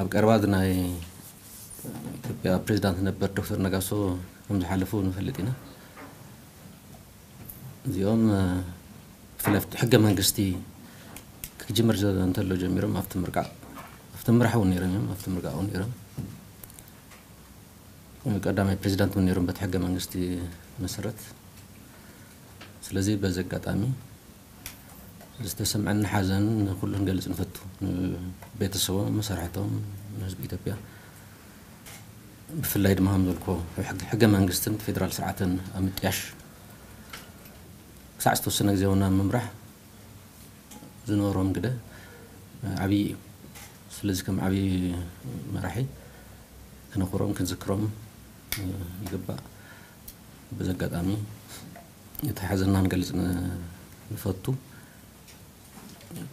ኣብ ቀረባ ናይ ኢትዮጵያ ፕሬዚዳንት ነበር ዶክተር ነጋሶ ከም ዝሓለፉ ንፈልጥ ኢና። እዚኦም ብፍላይ ሕገ መንግስቲ ክጅምር እንተሎ ጀሚሮም ኣብቲ ምርቃ ኣብቲ ምራሕ እውን ነይሮም እዮም ኣብቲ ምርቃ እውን ነይሮም ቀዳማይ ፕሬዚዳንት እውን ነይሮም በቲ ሕገ መንግስቲ መሰረት። ስለዚ በዚ ኣጋጣሚ ዝተሰምዐኒ ሓዘን ንኩሉ ክንገልፅ ንፈቱ። ንቤተሰቦም፣ መሳርሕቶም፣ ንህዝቢ ኢትዮጵያ ብፍላይ ድማ ከም ዘልኮ ሕገ መንግስትን ፌደራል ስርዓትን ኣብ ምጥያሽ ክሳዕ ዝተወሰነ ግዜ እውን ኣብ ምምራሕ ዝነበሮም ግደ ዓብዪ እዩ። ስለዚ ከም ዓብዪ መራሒ ክነኽብሮም ክንዝክሮም ይግባእ። በዚ ኣጋጣሚ እቲ ሓዘንና ክንገልፅ ንፈቱ።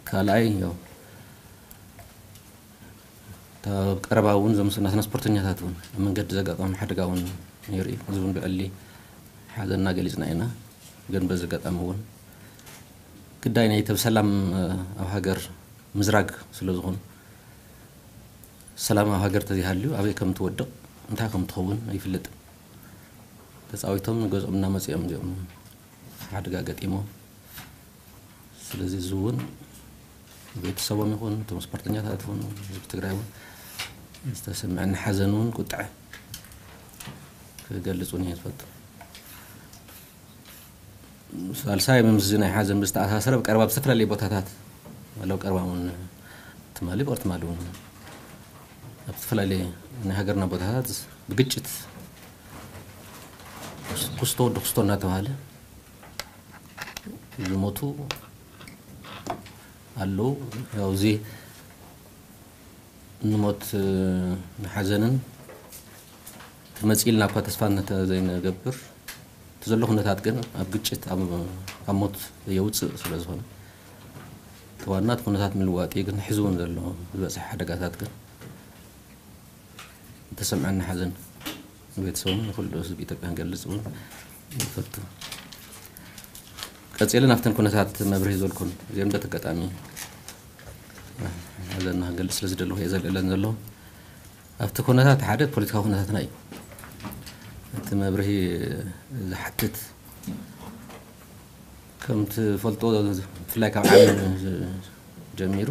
ካልኣይ ያው እታ ቀረባ እውን እዞም ናትና ስፖርተኛታት እውን ኣብ መንገዲ ዘጋጠሞም ሓደጋ እውን ነይሩ እዩ። እዚ እውን ብዕሊ ሓዘንና ገሊፅና ኢና። ግን በዚ ኣጋጣሚ እውን ግዳይ ናይ ተብ ሰላም ኣብ ሃገር ምዝራግ ስለ ዝኾኑ ሰላም ኣብ ሃገር ተዘይሃልዩ ኣበይ ከም ትወድቕ እንታይ ከም ትኸውን ኣይፍለጥን። ተፃዊቶም ገዝኦም እናመፅኦም እዚኦም ሓደጋ ገጢሞም። ስለዚ እዚ እውን ቤተሰቦም ይኹን እቶም ስፖርተኛታት ይኹን ህዝቢ ትግራይ እውን ዝተሰምዐኒ ሓዘን እውን ቁጥዐ ክገልፅ እውን እየ ዝፈቱ። ሳልሳይ፣ ምስዚ ናይ ሓዘን ብዝተኣሳሰረ፣ ኣብ ቀረባ ኣብ ዝተፈላለየ ቦታታት፣ ወላ ኣብ ቀረባ እውን ትማሊ፣ ብቐር ትማሊ እውን ኣብ ዝተፈላለየ ናይ ሃገርና ቦታታት ብግጭት ኩስቶ ወዲ ኩስቶ እናተባሃለ ዝሞቱ ኣለዉ። ያው፣ እዚ ንሞት፣ ንሓዘንን ክመጽእ ኢልና እኳ ተስፋ እንተ ዘይንገብር፣ እቲ ዘሎ ኩነታት ግን ኣብ ግጭት፣ ኣብ፣ ኣብ ሞት የውጽእ ስለ ዝኾነ፣ እቲ ዋና እቲ ኩነታት ምልዋጥ እዩ። ግን ሕዚ እውን ዘሎ ዝበጽሐ ሓደጋታት ግን ዝተሰምዐኒ ሓዘን ንቤተሰቦምን ንኹሉ ህዝቢ ኢትዮጵያ ክንገልጽ እውን ይፈቱ። ቀጺለ ናብተን ኩነታት መብርሂ ዘልኩን እዚኦም በቲ ኣጋጣሚ ሓዘንና ክንገልጽ ስለ ዝደለኹ እየ ዘልዕለን ዘለኹ። ኣብቲ ኩነታት ሓደ ፖለቲካዊ ኩነታትና እዩ። እቲ መብርሂ ዝሓትት ከም ትፈልጦ ብፍላይ ካብ ዓሚ ጀሚሩ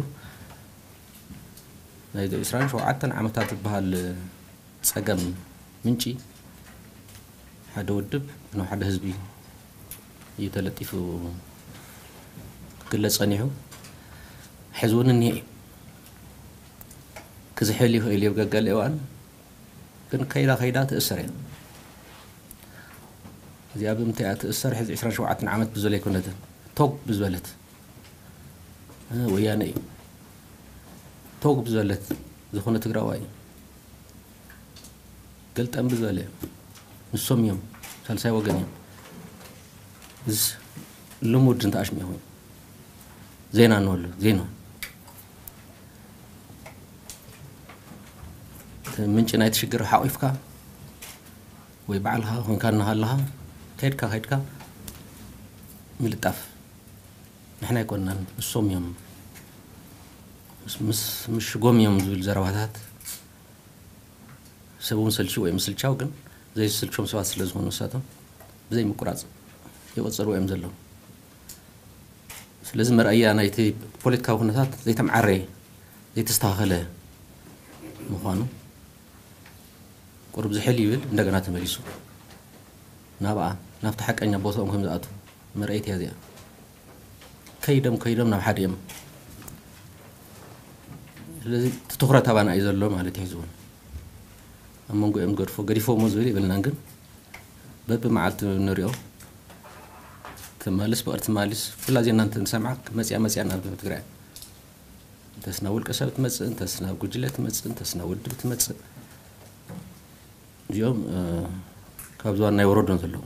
ናይ ዕስራን ሸውዓተን ዓመታት ዝበሃል ጸገም ምንጪ ሓደ ውድብ ናብ ሓደ ህዝቢ እዩ ተለጢፉ ክግለጽ ጸኒሑ። ሕዚ እውን እኒሀ እዩ። ክዝሕል ይኽእል እዩ ኣብ ገገለ እዋን፣ ግን ከይዳ ከይዳ ትእሰር እያ። እዚኣ ብምንታይ እያ ትእሰር? ሕዚ ዕስራን ሸውዓተን ዓመት ብዘሎ ኣይኮነትን። ቶግ ብዝበለት፣ እ፣ ወያነ እዩ። ቶግ ብዝበለት ዝኾነ ትግራዋይ እዩ። ገልጠም ብዝበለ እዮም። ንሶም እዮም፣ ሳልሳይ ወገን እዮም። እዚ ልሙድ እንተ ኣሽሚዑ ኮይኑ ዜና እንበሉ፣ ዜና። እቲ ምንጪ ናይቲ ሽግር ሓቑፍካ ወይ ባዕልኻ ኮንካ እናሃለኻ ከይድካ፣ ከይድካ ምልጣፍ። ንሕና ኣይኮንናን፣ ንሶም እዮም። ምስ፣ ምስ ምሽጎም እዮም ዝብል ዘረባታት ሰብ እውን ሰልችው እዮም። ምስልቻው ግን ዘይስልችዎም ሰባት ስለ ዝኾኑ ንሳቶም ብዘይ ምቁራጽ ይቕጽልዎ እዮም ዘለዉ። ስለዚ መርኣያ ናይቲ ፖለቲካዊ ኩነታት ዘይተምዓረየ፣ ዘይተስተኻኸለ ምዃኑ ቁሩብ ዝሕል ይብል፣ እንደገና ተመሊሱ ናብኣ፣ ናብቲ ሓቀኛ ቦታኦም ከም ዝኣትዉ መርኣይት እያ እዚኣ። ከይዶም፣ ከይዶም ናብ ሓደ እዮም። ስለዚ እቲ ትኹረት ኣባና እዩ ዘሎ ማለት እዩ። ሕዚ እውን ኣብ መንጎ እዮም ገድፎ፣ ገዲፎሞ ዝብል የብልናን፣ ግን በብመዓልቲ ንሪኦ። ትማልስ፣ ብቕር ትማልስ፣ ኩላ ዜና እንተ ንሰምዓ፣ መጽያ፣ መጽያ ናብ ትግራይ። እንተስ ናብ ውልቀ ሰብ ትመጽእ፣ እንተስ ናብ ጉጅለ ትመጽእ፣ እንተስ ናብ ውድብ ትመጽእ። እዚኦም፣ እ፣ ካብ ዝባን ናይ ወረዶም ዘለዉ።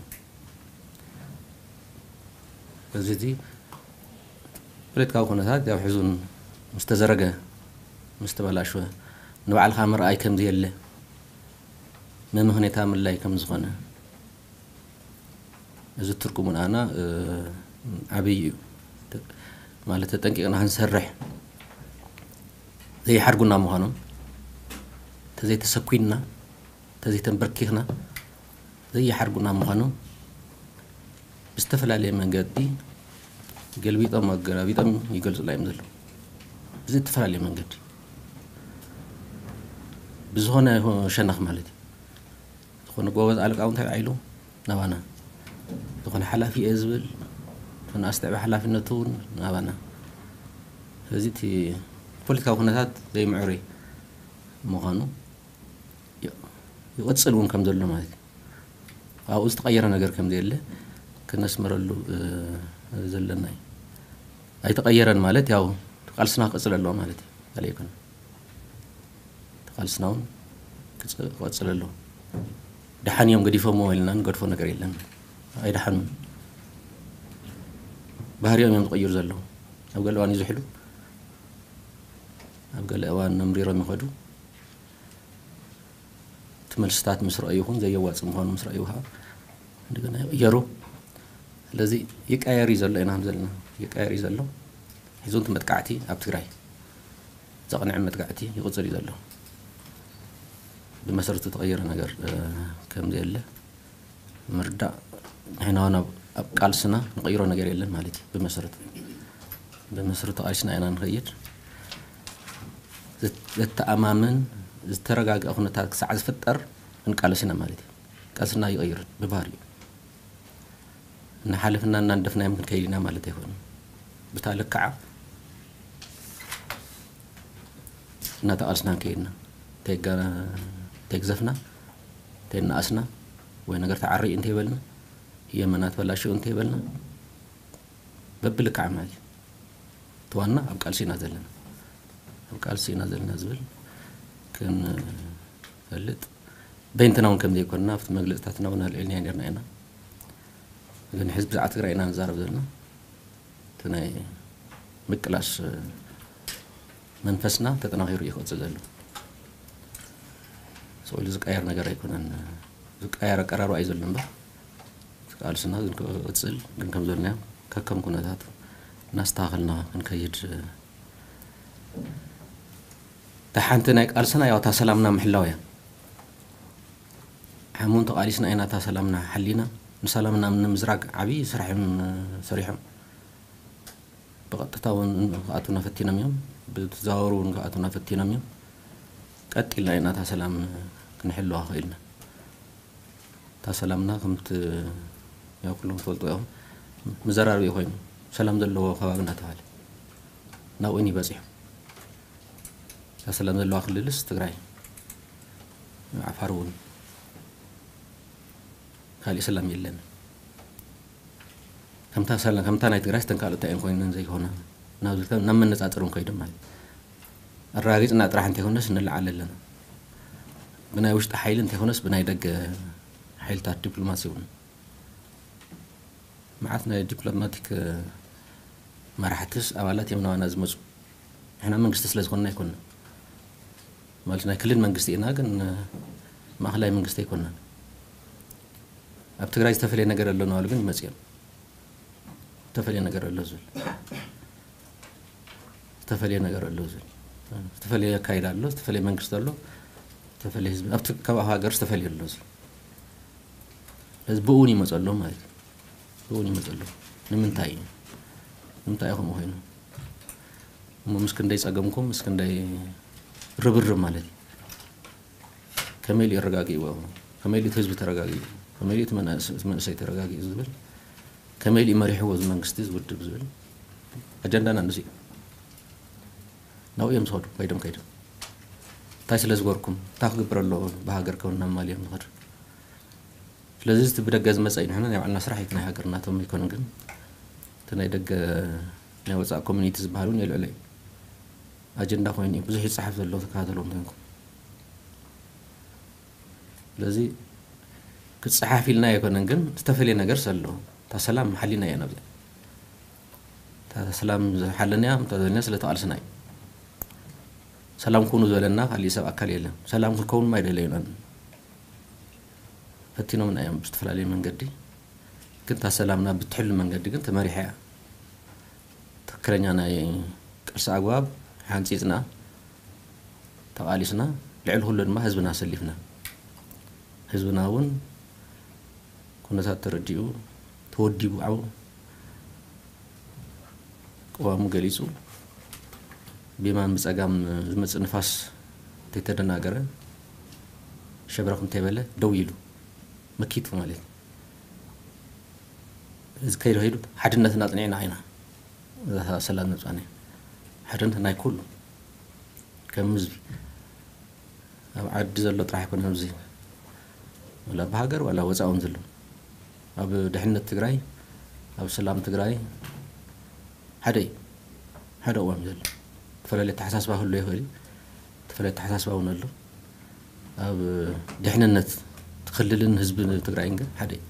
በዚ እዚ ፖለቲካዊ ኩነታት ያው ሕዙን ምስ ተዘረገ፣ ምስ ተበላሸወ፣ ንባዕልኻ ምርኣይ ከም ዘየለ፣ መመኽኔታ ምልላይ ከም ዝኾነ፣ እዚ ትርጉሙ ንኣና፣ እ፣ ዓብዪ እዩ። ተ-፣ ማለት ተጠንቂቕና ክንሰርሕ ዘይሓድጉና ምዃኖም፣ ተዘይተሰኩንና፣ ተዘይተንበርኪኽና፣ ዘየሓርጉና ምዃኑ ብዝተፈላለየ መንገዲ ገልቢጦም ኣገላቢጦም ይገልጹና እዮም ዘለዉ። ብዝተፈላለየ መንገዲ፣ ብዝኾነ ሸነኽ ማለት እዩ። ዝኾነ ጎበዝ ኣለቃ እውን እንታይ ኢሉ ናባና፣ ዝኾነ ሓላፊ እየ ዝብል፣ ዝኾነ ኣስተዕቢ ሓላፍነቱ እውን ናባና። ስለዚ እቲ ፖለቲካዊ ኩነታት ዘይምዕሩይ ምዃኑ ይቕጽል እውን ከም ዘሎ ማለት እዩ። ኣብኡ ዝተቐየረ ነገር ከም ዘየለ ክነስምረሉ ዘለና እዩ። ኣይተቐየረን ማለት ያው ቃልስና ክቕጽል ኣለዎ ማለት እዩ። ካልእ ኣይኮነን። ቃልስና እውን ክቐጽል ኣለዎ። ደሓን እዮም ገዲፎምዎ ኢልና ንገድፎ ነገር የለን። ኣይደሓኑን። ባህሪኦም እዮም ዝቕይሩ ዘለዉ። ኣብ ገለ እዋን ይዝሕሉ፣ ኣብ ገለ እዋን ነምሪሮም ይኸዱ። እቲ መልስታት ምስ ረኣዩ ይኹን ዘየዋፅእ ምዃኑ ምስ ረኣዩ ከዓ እንደገና ይቕየሩ። ስለዚ ይቀየር እዩ ዘሎ ኢና ዘለና። ይቀየር እዩ ዘሎ። ሕዚ እውን እቲ መጥቃዕቲ ኣብ ትግራይ ዘቕንዐ መጥቃዕቲ ይቕፅል እዩ ዘሎ። ብመሰረቱ ተቐየረ ነገር ከም ዘየለ ምርዳእ። ንሕና እውን ኣብ ቃልስና ንቕይሮ ነገር የለን ማለት እዩ። ብመሰረቱ ብመሰረቱ ቃልስና ኢና ንኸይድ። ዘተኣማምን ዝተረጋግአ ኩነታት ክሳዕ ዝፍጠር ክንቃለስ ኢና ማለት እዩ። ቃልስና ይቕይርን ብባህሪኡ እናሓለፍና እናንደፍናዮም ክንከይድ ኢና ማለት ኣይኮነን። ብታ ልክዓ እናተቃልስና ከይድና ተይግዘፍና ተይናኣስና ወይ ነገር ተዓሪኡ እንተይበልና የመና ተበላሽኡ እንተይበልና በብልክዓ ማለት እዩ። እቲ ዋና ኣብ ቃልሲ ኢና ዘለና፣ ኣብ ቃልሲ ኢና ዘለና ዝብል ክንፈልጥ በይንትና እውን ከም ዘይኮንና ኣብቲ መግለፅታትና እውን ኣልዒልና ነርና ኢና። ግን ሕዚ ብዛዕባ ትግራይ ኢና ንዛረብ ዘለና። እቲ ናይ ምቅላስ መንፈስና ተጠናኺሩ እዩ ክቕፅል ዘሎ። ስቕ ኢሉ ዝቀየር ነገር ኣይኮነን። ዝቀየር ኣቀራርባ እዩ ዘሎ እምበር ቃልስና ግን ክቕፅል ግን ከም ዘልናዮ ከከም ኩነታት እናስተኻኸልና ክንከይድ። እታ ሓንቲ ናይ ቃልስና ያው እታ ሰላምና ምሕላው እያ። ሓሙን ተቓሊስና ኢና እታ ሰላምና ሓሊና። ንሰላምና ንምዝራግ ዓብዪ ስራሕ እዮም ሰሪሖም። ብቐጥታ እውን ክኣቱና ፈቲኖም እዮም፣ ብተዘዋወሩ እውን ክኣቱና ፈቲኖም እዮም። ቀጢልና ኢና እታ ሰላም ክንሕልዋ ክኢልና። እታ ሰላምና ከምቲ ያው ኩሎም ትፈልጡ ኢኹም፣ መዘራረቢ ኮይኑ ሰላም ዘለዎ ከባቢ እናተባህለ ናብኡ እዩ በፂሑ። እታ ሰላም ዘለዋ ክልልስ ትግራይ፣ ዓፋር እውን ካሊእ ሰላም የለን። ከምታ ሰላም ከምታ ናይ ትግራይ ስተንካልታ እዮም ኮይነን ዘይኮነ ናብ ዝልካ ናብ መነፃፅር እውን ከይዶም ማለት ኣረጋጊፅና ጥራሕ እንተይኮነስ ንለዓል ኣለና። ብናይ ውሽጢ ሓይሊ እንተይኮነስ ብናይ ደገ ሓይልታት ዲፕሎማሲ እውን መዓት ናይ ዲፕሎማቲክ መራሕትስ ኣባላት እዮም ናባና ዝመፁ። ንሕና መንግስቲ ስለ ዝኾንና ኣይኮንና ማለት ናይ ክልል መንግስቲ ኢና፣ ግን ማእኸላይ መንግስቲ ኣይኮንናን። ኣብ ትግራይ ዝተፈለየ ነገር ኣሎ እናበሉ ግን ይመፅኦም። ዝተፈለየ ነገር ኣሎ ዝብል ዝተፈለየ ነገር ኣሎ ዝብል ዝተፈለየ ኣካይዳ ኣሎ፣ ዝተፈለየ መንግስቲ ኣሎ፣ ዝተፈለየ ህዝቢ ኣብቲ ከባቢ ሃገር ዝተፈለየ ኣሎ ዝብል ስለዚ ብእውን ይመፀሎም ማለት እዩ። ብእውን ይመፀሎም ንምንታይ እዩ? ንምንታይ እዩ ከምኡ ኮይኑ? እሞ ምስ ክንደይ ፀገምኩም ምስ ክንደይ ርብርብ ማለት እዩ። ከመይ ኢሉ የረጋግእዎ? ከመይ ኢሉ እቲ ህዝቢ ተረጋጊኡ? ከመይ ኢሉ እቲ መናእስ- እቲ መንእሰይ ተረጋጊኡ ዝብል ከመይ ኢሉ መሪሕዎ እዚ መንግስቲ እዚ ውድብ ዝብል ኣጀንዳና ንዚ እዩ። ናብኡ እዮም ዝኸዱ ከይዶም ከይዶም እንታይ ስለ ዝገርኩም እንታይ ክግበር ኣለዎ ብሃገር ከውን ናብ ማል እዮም ዝኸዱ። ስለዚ እቲ ብደገ ዝመፀ እዩ ንሕና ናይ ባዕልና ስራሕ እዩ ናይ ሃገር ናቶም ኣይኮነ ግን እቲ ናይ ደገ ናይ ወፃእ ኮሚኒቲ ዝበሃል እውን የልዕሎ እዩ። ኣጀንዳ ኮይኑ እዩ ብዙሕ ይፀሓፍ ዘሎ ተከታተሎ እንተንኩም ስለዚ ክፀሓፍ ኢልና ኣይኮነን ግን ዝተፈለየ ነገር ዘሎ እታ ሰላም ሓሊና እያ ናብዚኣ እታ ሰላም ዝሓለና እያ እታ ዘለና ስለ ተቃልስና እዩ። ሰላም ኩኑ ዝበለና ካሊእ ሰብ ኣካል የለን። ሰላም ክንከውን ማ ይደለዩና ፈቲኖምና እዮም ብዝተፈላለየ መንገዲ ግን እታ ሰላምና ብትሕሉ መንገዲ ግን ተመሪሓ እያ። ትክክለኛ ናይ ቅርሲ ኣግባብ ሓንፂፅና ተቓሊስና ልዕሊ ኩሉ ድማ ህዝብና ኣሰሊፍና፣ ህዝብና እውን ኩነታት ተረዲኡ፣ ተወዲቡ፣ ዓው ቅዋሙ ገሊጹ፣ ብየማን ብጸጋም ዝመጽእ ንፋስ እንተይተደናገረ፣ ሸብረኽ እንተይበለ፣ ደው ኢሉ፣ መኪቱ ማለት እዩ። እዚ ከይዱ ከይዱ ሓድነትና ኣጽኒዕና ኢና። እዛ ሰላም ነጻ ናይ ሓድነት ናይ ኩሉ ከም ህዝቢ ኣብ ዓዲ ዘሎ ጥራሕ ኣይኮነን። ኣብዚ ዋላ ኣብ ሃገር ዋላ ወፃእ እውን ዘሎ ኣብ ድሕነት ትግራይ ኣብ ሰላም ትግራይ ሓደ እዩ። ሓደ እዋን ዘሎ ተፈላለየ ኣተሓሳስባ ክህሉ ይኽእል እዩ። ተፈላለየ ኣተሓሳስባ እውን ኣሎ። ኣብ ድሕንነት ክልልን ህዝቢ ትግራይን ግን ሓደ እዩ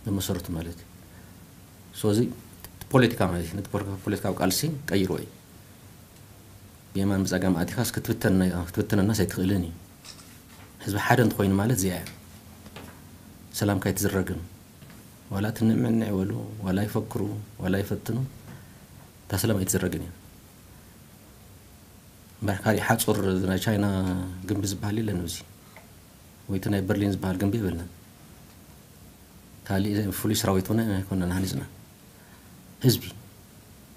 ብመሰረቱ ማለት እዩ። ስለዚ ፖለቲካ ማለት እዩ። ነቲ ፖለቲካ- ፖለቲካዊ ቃልሲ ቀይሮ እዩ። ብየማን ብፀጋም ኣቲኻስ ክትብተን ክትብትነናስ ኣይትኽእልን እዩ። ህዝቢ ሓደ እንተኮይኑ ማለት እዚኣ እያ። ሰላምካ ኣይትዝረግን። ዋላ ትንዕምንዕ ይበሉ፣ ዋላ ይፈክሩ፣ ዋላ ይፈትኑ፣ እታ ሰላም ኣይትዝረግን እያ። እምበር ካሊእ ሓፁር ናይ ቻይና ግንቢ ዝበሃል የለን ኣብዚ፣ ወይ እቲ ናይ በርሊን ዝበሃል ግንቢ የብልናን። ካሊእ ፍሉይ ሰራዊት ሆነ ኣይኮነን ሃኒፅና። ህዝቢ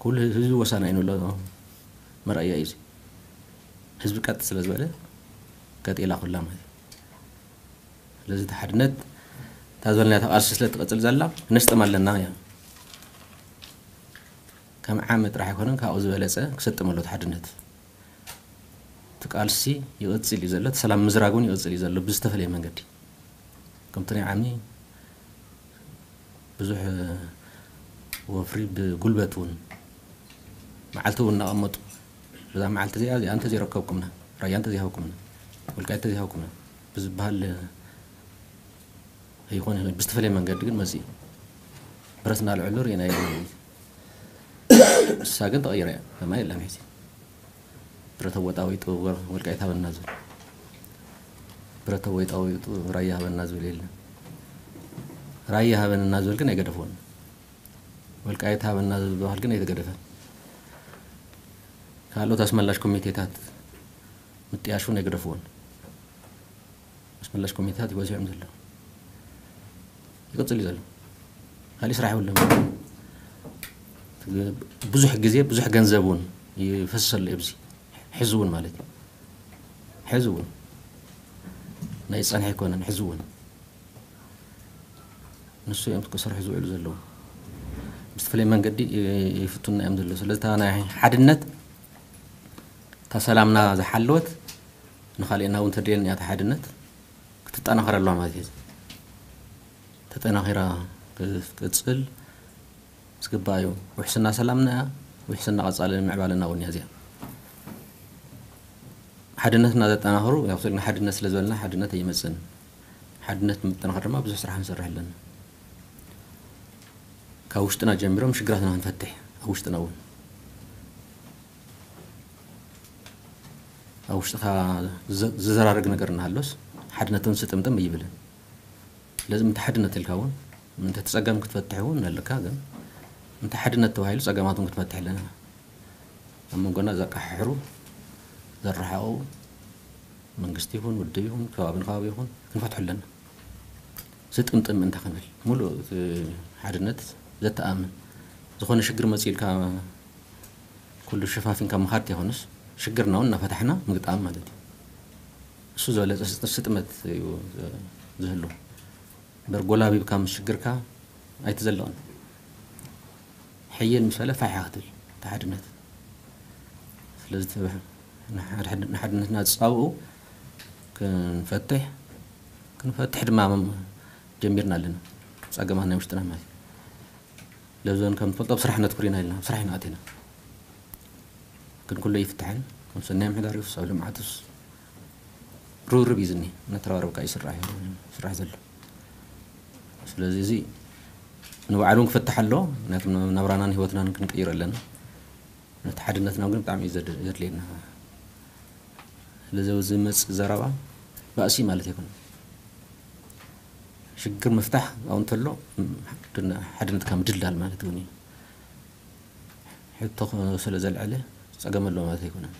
ኩሉ ህዝቢ ወሳና እዩ ንብሎ መርኣያ እዩ እዚ። ህዝቢ ቀጥ ስለ ዝበለ ቀጥ ኢላ ኩላ ማለት እዩ። ስለዚ እቲ ሓድነት እታ ዝበልናያ ተቃልሲ ስለ ትቐፅል ዘላ ክነስጥም ኣለና እያ። ከም ዓሚ ጥራሕ ኣይኮነን፣ ካብኡ ዝበለፀ ክሰጥም ኣሎ እቲ ሓድነት። እቲ ቃልሲ ይቕፅል እዩ ዘሎ፣ እቲ ሰላም ምዝራግ እውን ይቕፅል እዩ ዘሎ ብዝተፈለየ መንገዲ። ከምቲ ናይ ዓሚ ብዙሕ ወፍሪ ብጉልበት እውን መዓልቲ እውን እናቐመጡ በዛ መዓልቲ እዚኣ እዚኣ እንተዘይረከብኩምና፣ ራያ እንተዘይሃብኩምና፣ ወልቃይት እንተዘይሃብኩምና ብዝበሃል ይኾን ይኽእል ብዝተፈለየ መንገዲ ግን መፅኡ ብረት እናልዕሉ ርኢና ኢና። ንሳ ግን ተቐይራ እያ። ከማ የለን ሕዚ ብረተ ወጣዊጡ ወልቃይት ሃበና ዝብል ብረተ ወጣዊጡ ራያ ሃበና ዝብል የለን። ራያ ሃበንና ዝብል ግን ኣይገደፍዎን። ወልቃይት ሃበና ዝበሃል ግን ኣይተገደፈን። ካልኦት ኣስመላሽ ኮሚቴታት ምጥያሽ እውን ኣይገደፍዎን። ኣስመላሽ ኮሚቴታት ይበዝሑ እዮም ዘለዉ። ይቕፅል እዩ ዘሎ። ካሊእ ስራሕ የብሎም። ብዙሕ ግዜ ብዙሕ ገንዘብ እውን ይፈስሰሉ ኣብዚ ሕዚ እውን ማለት እዩ። ሕዚ እውን ናይ ዝፀንሐ ኣይኮነን። ሕዚ እውን ንሱ እዮም ክሰርሑ ዝውዕሉ ዘለዉ። ብዝተፈለየ መንገዲ ይፍቱና እዮም ዘለዉ። ስለዚ እታ ናይ ሓድነት እታ ሰላምና ዝሓለወት ንኻልእና እውን ተድልየና እያ። እታ ሓድነት ክትጠናኸር ኣለዋ ማለት እዩ። ተጠናኺራ ክትቅፅል ዝግባእ እዩ። ውሕስና ሰላምና እያ። ውሕስና ቀፃሊ ምዕባለና እውን እያ እዚኣ። ሓድነትና ዘጠናኽሩ ያው ስለ ሓድነት ስለ ዝበልና ሓድነት ኣይመፅእን። ሓድነት ንምጥንኻር ድማ ብዙሕ ስራሕ ክንሰርሕ ኣለና። ካብ ውሽጥና ጀሚሮም ሽግራትና ክንፈትሕ ኣብ ውሽጥና እውን ኣብ ውሽጥኻ ዝዘ- ዝዘራረግ ነገር እናሃሎስ ሓድነትን ስጥምጥም ኣይብልን። ስለዚ ምንታይ ሓድነት ኢልካ እውን ምንታይ ተፀገም ክትፈትሕ እውን ኣለካ። ግን ምንታይ ሓድነት ተባሂሉ ፀገማት እውን ክትፈትሕ ኣለና። ኣብ መንጎና ዘቃሓሕሩ ዘረሓቑ መንግስቲ ይኹን ውድብ ይኹን ከባቢ ንከባቢ ይኹን ክንፈትሑ ኣለና። ዝጥምጥም ምእንታ ክንብል ሙሉእ እቲ ሓድነት ዘተኣምን ዝኾነ ሽግር መፂኡ ኢልካ ኩሉ ሸፋፊንካ ምኻድ ተይኮነስ ሽግርና እውን እናፈታሕና ምግጣም ማለት እዩ። እሱ ዝበለፀ ስጥ- ስጥመት እዩ ዝህሉ። እምበር ጎላቢብካ ምስ ሽግርካ ኣይትዘልቕን። ሕይል ምስ በለ ፋሕ ክትብል እቲ ሓድነት። ስለዚ እቲ ንሓድነትና ዝፃብኡ ክንፈትሕ ክንፈትሕ ድማ ጀሚርና ኣለና። ፀገማት ናይ ውሽጥና ማለት እዩ። ለብዘን ከም ትፈልጦ ኣብ ስራሕ ነትኩር ኢና ኢልና ኣብ ስራሕ ኢና ኣቲና። ግን ኩሉ ይፍትሐን ከም ሰናይ ምሕዳር ይፍስ ኣብ ልምዓትስ ርብርብ እዩ ዝኒ እናተረባረብካ ይስራሕ እዩ ስራሕ ዘሎ። ስለዚ እዚ ንባዕሉ ክፍትሕ ኣሎ። ምክንያቱ ናብራናን ህይወትናን ክንቅይር ኣለና። ነቲ ሓድነትና ግን ብጣዕሚ እዩ ዘድ- ዘድልየና። ስለዚ ኣብዚ ዝመፅእ ዘረባ ባእሲ ማለት ኣይኮነን። ሽግር ምፍታሕ ኣብኡ እንተሎ ሓድነትካ ምድልዳል ማለት እውን እዩ። ሕቶ ስለ ዘልዐለ ፀገም ኣሎ ማለት ኣይኮነን።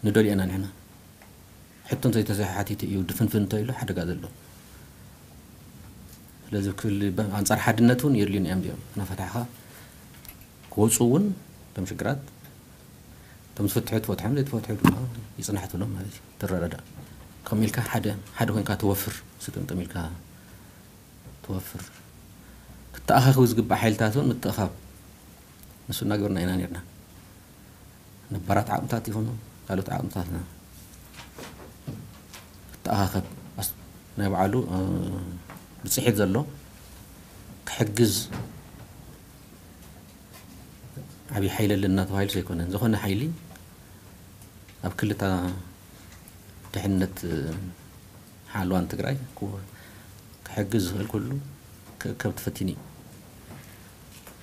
ንደልዮ ኢና ንሕና። ሕቶ እንተይተዘይሓቲቱ እዩ ድፍንፍን እንተኢሉ ሓደጋ ዘሎ። ስለዚ ክል ኣንጻር ሓድነት እውን የድልዩና እዮም እዚኦም። እናፈታሕኻ ክወፁ እውን እቶም ሽግራት፣ እቶም ዝፍትሑ ትፈትሖም፣ ዘይትፈትሑ ድማ ይፅናሕ ትብሎም ማለት እዩ። ትረዳዳእ። ከምኡ ኢልካ ሓደ ሓደ ኮይንካ ትወፍር፣ ስጥምጥም ኢልካ ትወፍር። ክተኣኻኽቡ ዝግባእ ሓይልታት እውን ምትእኻብ፣ ንሱ እናገበርና ኢና ነርና። ነባራት ዓቕምታት ይኹኑ ካልኦት ዓቕምታትና ክተኣኻኸብ፣ ናይ ባዕሉ ብፅሒት ዘሎ ክሕግዝ፣ ዓብዪ ሓይሊ ኣለና ተባሂሉ ዘይኮነ፣ ዝኾነ ሓይሊ ኣብ ክልታ ድሕነት ሓልዋን ትግራይ ክሕግዝ ዝኽእል ኩሉ ክእከብ ተፈቲኑ እዩ።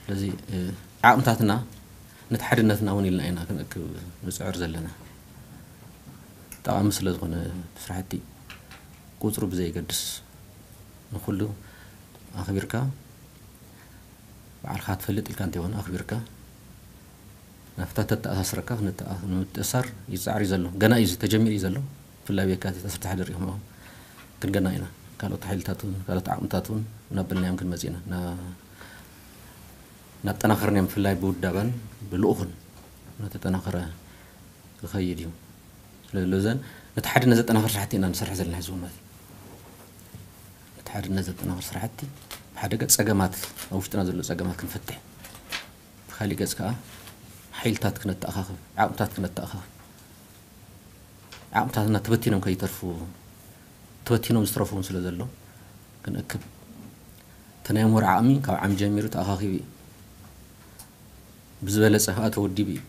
ስለዚ ዓቕምታትና ነቲ ሓድነትና እውን ኢልና ኢና ክንእክብ ንፅዕር ዘለና። ጠቓሚ ስለ ዝኾነ ስራሕቲ ቁፅሩ ብዘየገድስ ንኩሉ ኣኽቢርካ፣ ባዕልኻ ትፈልጥ ኢልካ እንተይኮነ ኣኽቢርካ ናብታ ተተኣሳስረካ ንምትእሳር ይፃዕር እዩ ዘሎ። ገና እዩ ተጀሚሩ እዩ ዘሎ። ብፍላይ ኣብ የካቲት ዓሰርተ ሓደ ሪኢኹም ኢኹም። ክንገና ኢና። ካልኦት ሓይልታት እውን ካልኦት ዓቕምታት እውን እናበልናዮም ክንመፅእ ኢና። እናጠናኸርናዮም ብፍላይ ብውዳበን ብልኡኽን እናተጠናኸረ ክኸይድ እዩ። ስለዚ ነቲ ሓድነት ዘጠናኽር ስራሕቲ ኢና ንሰርሕ ዘለና ሕዚ እውን ማለት እዩ። ነቲ ሓድነት ዘጠናኽር ስራሕቲ ብሓደ ገፅ ፀገማት ኣብ ውሽጥና ዘሎ ፀገማት ክንፈትሕ፣ ብካሊእ ገፅ ከዓ ሓይልታት ክነተኣኻኽብ፣ ዓቕምታት ክነተኣኻኽብ፣ ዓቕምታትና ተበቲኖም ከይተርፉ፣ ተበቲኖም ዝተረፉ እውን ስለ ዘሎ ክንእክብ፣ እቲ ናይ ምሁር ዓቕሚ ካብ ዓሚ ጀሚሩ ተኣኻኺቡ እዩ። ብዝበለፀ ከዓ ተወዲቡ እዩ።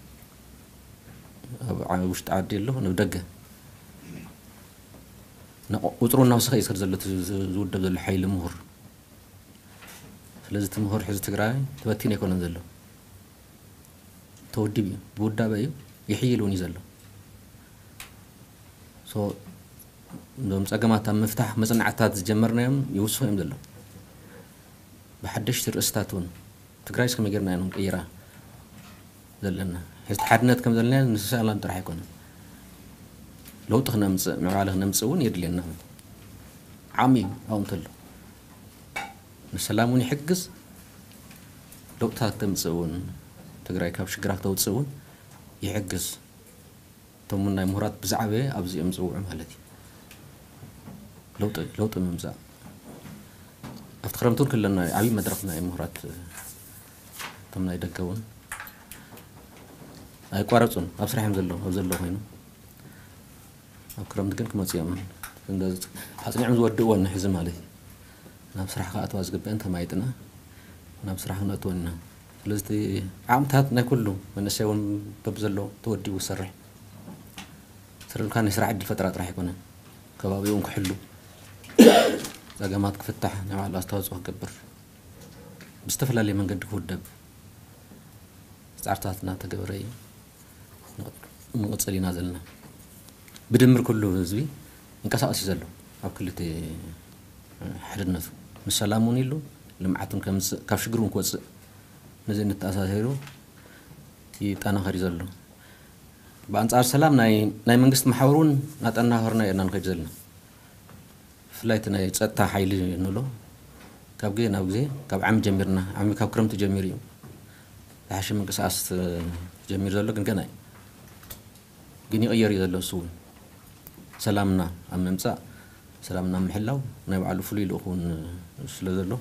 ኣብ ውሽጢ ዓዲ ኣሎ፣ ናብ ደገ ቁፅሩ እናወሰኸ እዩ ዝኸድ ዘሎ ዝውደብ ዘሎ ሓይሊ ምሁር። ስለዚ እቲ ምሁር ሕዚ ትግራይ ተበቲኑ ኣይኮነን ዘሎ፣ ተወዲቡ እዩ፣ ብውዳበ እዩ፣ ይሕይል እውን እዩ ዘሎ። እዞም ፀገማት ኣብ ምፍታሕ መፅናዕትታት ዝጀመርናዮም ይውስኹ እዮም ዘለዉ። ብሓደሽቲ ርእስታት እውን ትግራይ እስከመይ ጌርና ኢና ክንቅይራ ዘለና? ሕዚ ሓድነት ከም ዘለና ንሰላም ጥራሕ ኣይኮነን፣ ለውጢ ክነምፅእ ምዕባለ ክነምፅእ እውን የድልየና። ዓሚ ኣብኡ እንተሎ ንሰላም እውን ይሕግዝ፣ ለውጥታት ክተምፅእ እውን፣ ትግራይ ካብ ሽግራ ክተውፅእ እውን ይሕግዝ። እቶም ናይ ምሁራት ብዛዕበ ኣብዚ እዮም ዝፅውዑ ማለት እዩ። ለውጢ ለውጢ ምምፃእ ኣብቲ ክረምቲ እውን ክለና ዓብዪ መድረኽ ናይ ምሁራት፣ እቶም ናይ ደገ እውን ኣይቋረፁን፣ ኣብ ስራሕ እዮም ዘለዉ። ኣብ ዘለዉ ኮይኑ ኣብ ክረምቲ ግን ክመፁ እዮም። ኣፅኒዖም ዝወድእዎ ንሕዚ ማለት እዩ። ናብ ስራሕ ክኣትዋ ዝግበአን ተማይጥና ናብ ስራሕ ክነእትወን ኢና። ስለዚ ዓቕምታት ናይ ኩሉ መንእሰይ እውን በብዘሎ ተወዲቡ ክሰርሕ ስርልካ ናይ ስራሕ ዕድል ፈጠራ ጥራሕ ኣይኮነን፣ ከባቢኡ እውን ክሕሉ፣ ፀገማት ክፍታሕ ናይ ባዕሉ ኣስተዋፅኦ ክገብር ብዝተፈላለየ መንገዲ ክውደብ ፃዕርታት እናተገበረ እዩ ንቕፅል ኢና ዘለና። ብድምር ኩሉ ህዝቢ ይንቀሳቐስ እዩ ዘሎ ኣብ ክልተ ሓድነቱ፣ ንሰላም እውን ኢሉ ልምዓት እውን ከምፅእ፣ ካብ ሽግር እውን ክወፅእ፣ ነዚ እንተኣሳሰሩ ይጠናኸር እዩ ዘሎ። ብኣንፃር ሰላም ናይ ናይ መንግስቲ መሓውር እውን እናጠናኸርና ኢና ንኸይድ ዘለና። ብፍላይ እቲ ናይ ፀጥታ ሓይሊ ንብሎ ካብ ግዜ ናብ ግዜ ካብ ዓሚ ጀሚርና፣ ዓሚ ካብ ክረምቲ ጀሚሩ እዩ ዝሓሸ ምንቅስቃስ ጀሚሩ ዘሎ፣ ግን ገና እዩ። ግን ይቕየር እዩ ዘሎ። እሱ እውን ሰላምና ኣብ ምምፃእ፣ ሰላምና ኣብ ምሕላው ናይ ባዕሉ ፍሉይ ልኡኽ እውን ስለ ዘሎ፣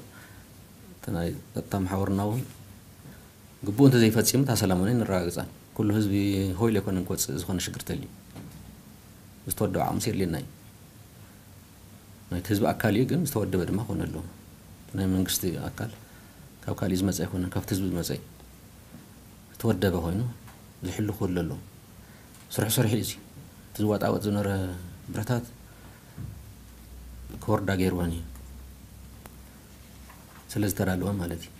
እቲ ናይ ፀጥታ መሓውርና እውን ግቡእ እንተዘይፈፂሙ እታ ሰላም እውን ኣይነረጋግፃን። ኩሉ ህዝቢ ሆይል ኣይኮነን ክወፅእ ዝኾነ ሽግር ተልዩ። ዝተወደበ ዓቕምሲ የድልየና እዩ። ናይቲ ህዝቢ ኣካል እዩ፣ ግን ዝተወደበ ድማ ክኾን ኣለዎ። እቲ ናይ መንግስቲ ኣካል ካብ ካሊእ ዝመፀ ኣይኮነን፣ ካብቲ ህዝቢ ዝመፀ እዩ። ዝተወደበ ኮይኑ ዝሕሉ ክህሉ ኣለዎ። ስርሑ ሰሪሑ እዩ። እዚ እቲ ዝዋጣወጥ ዝነበረ ብረታት ክወርዳ ገይርወን እዩ። ስለ ዝተዳለወ ማለት እዩ።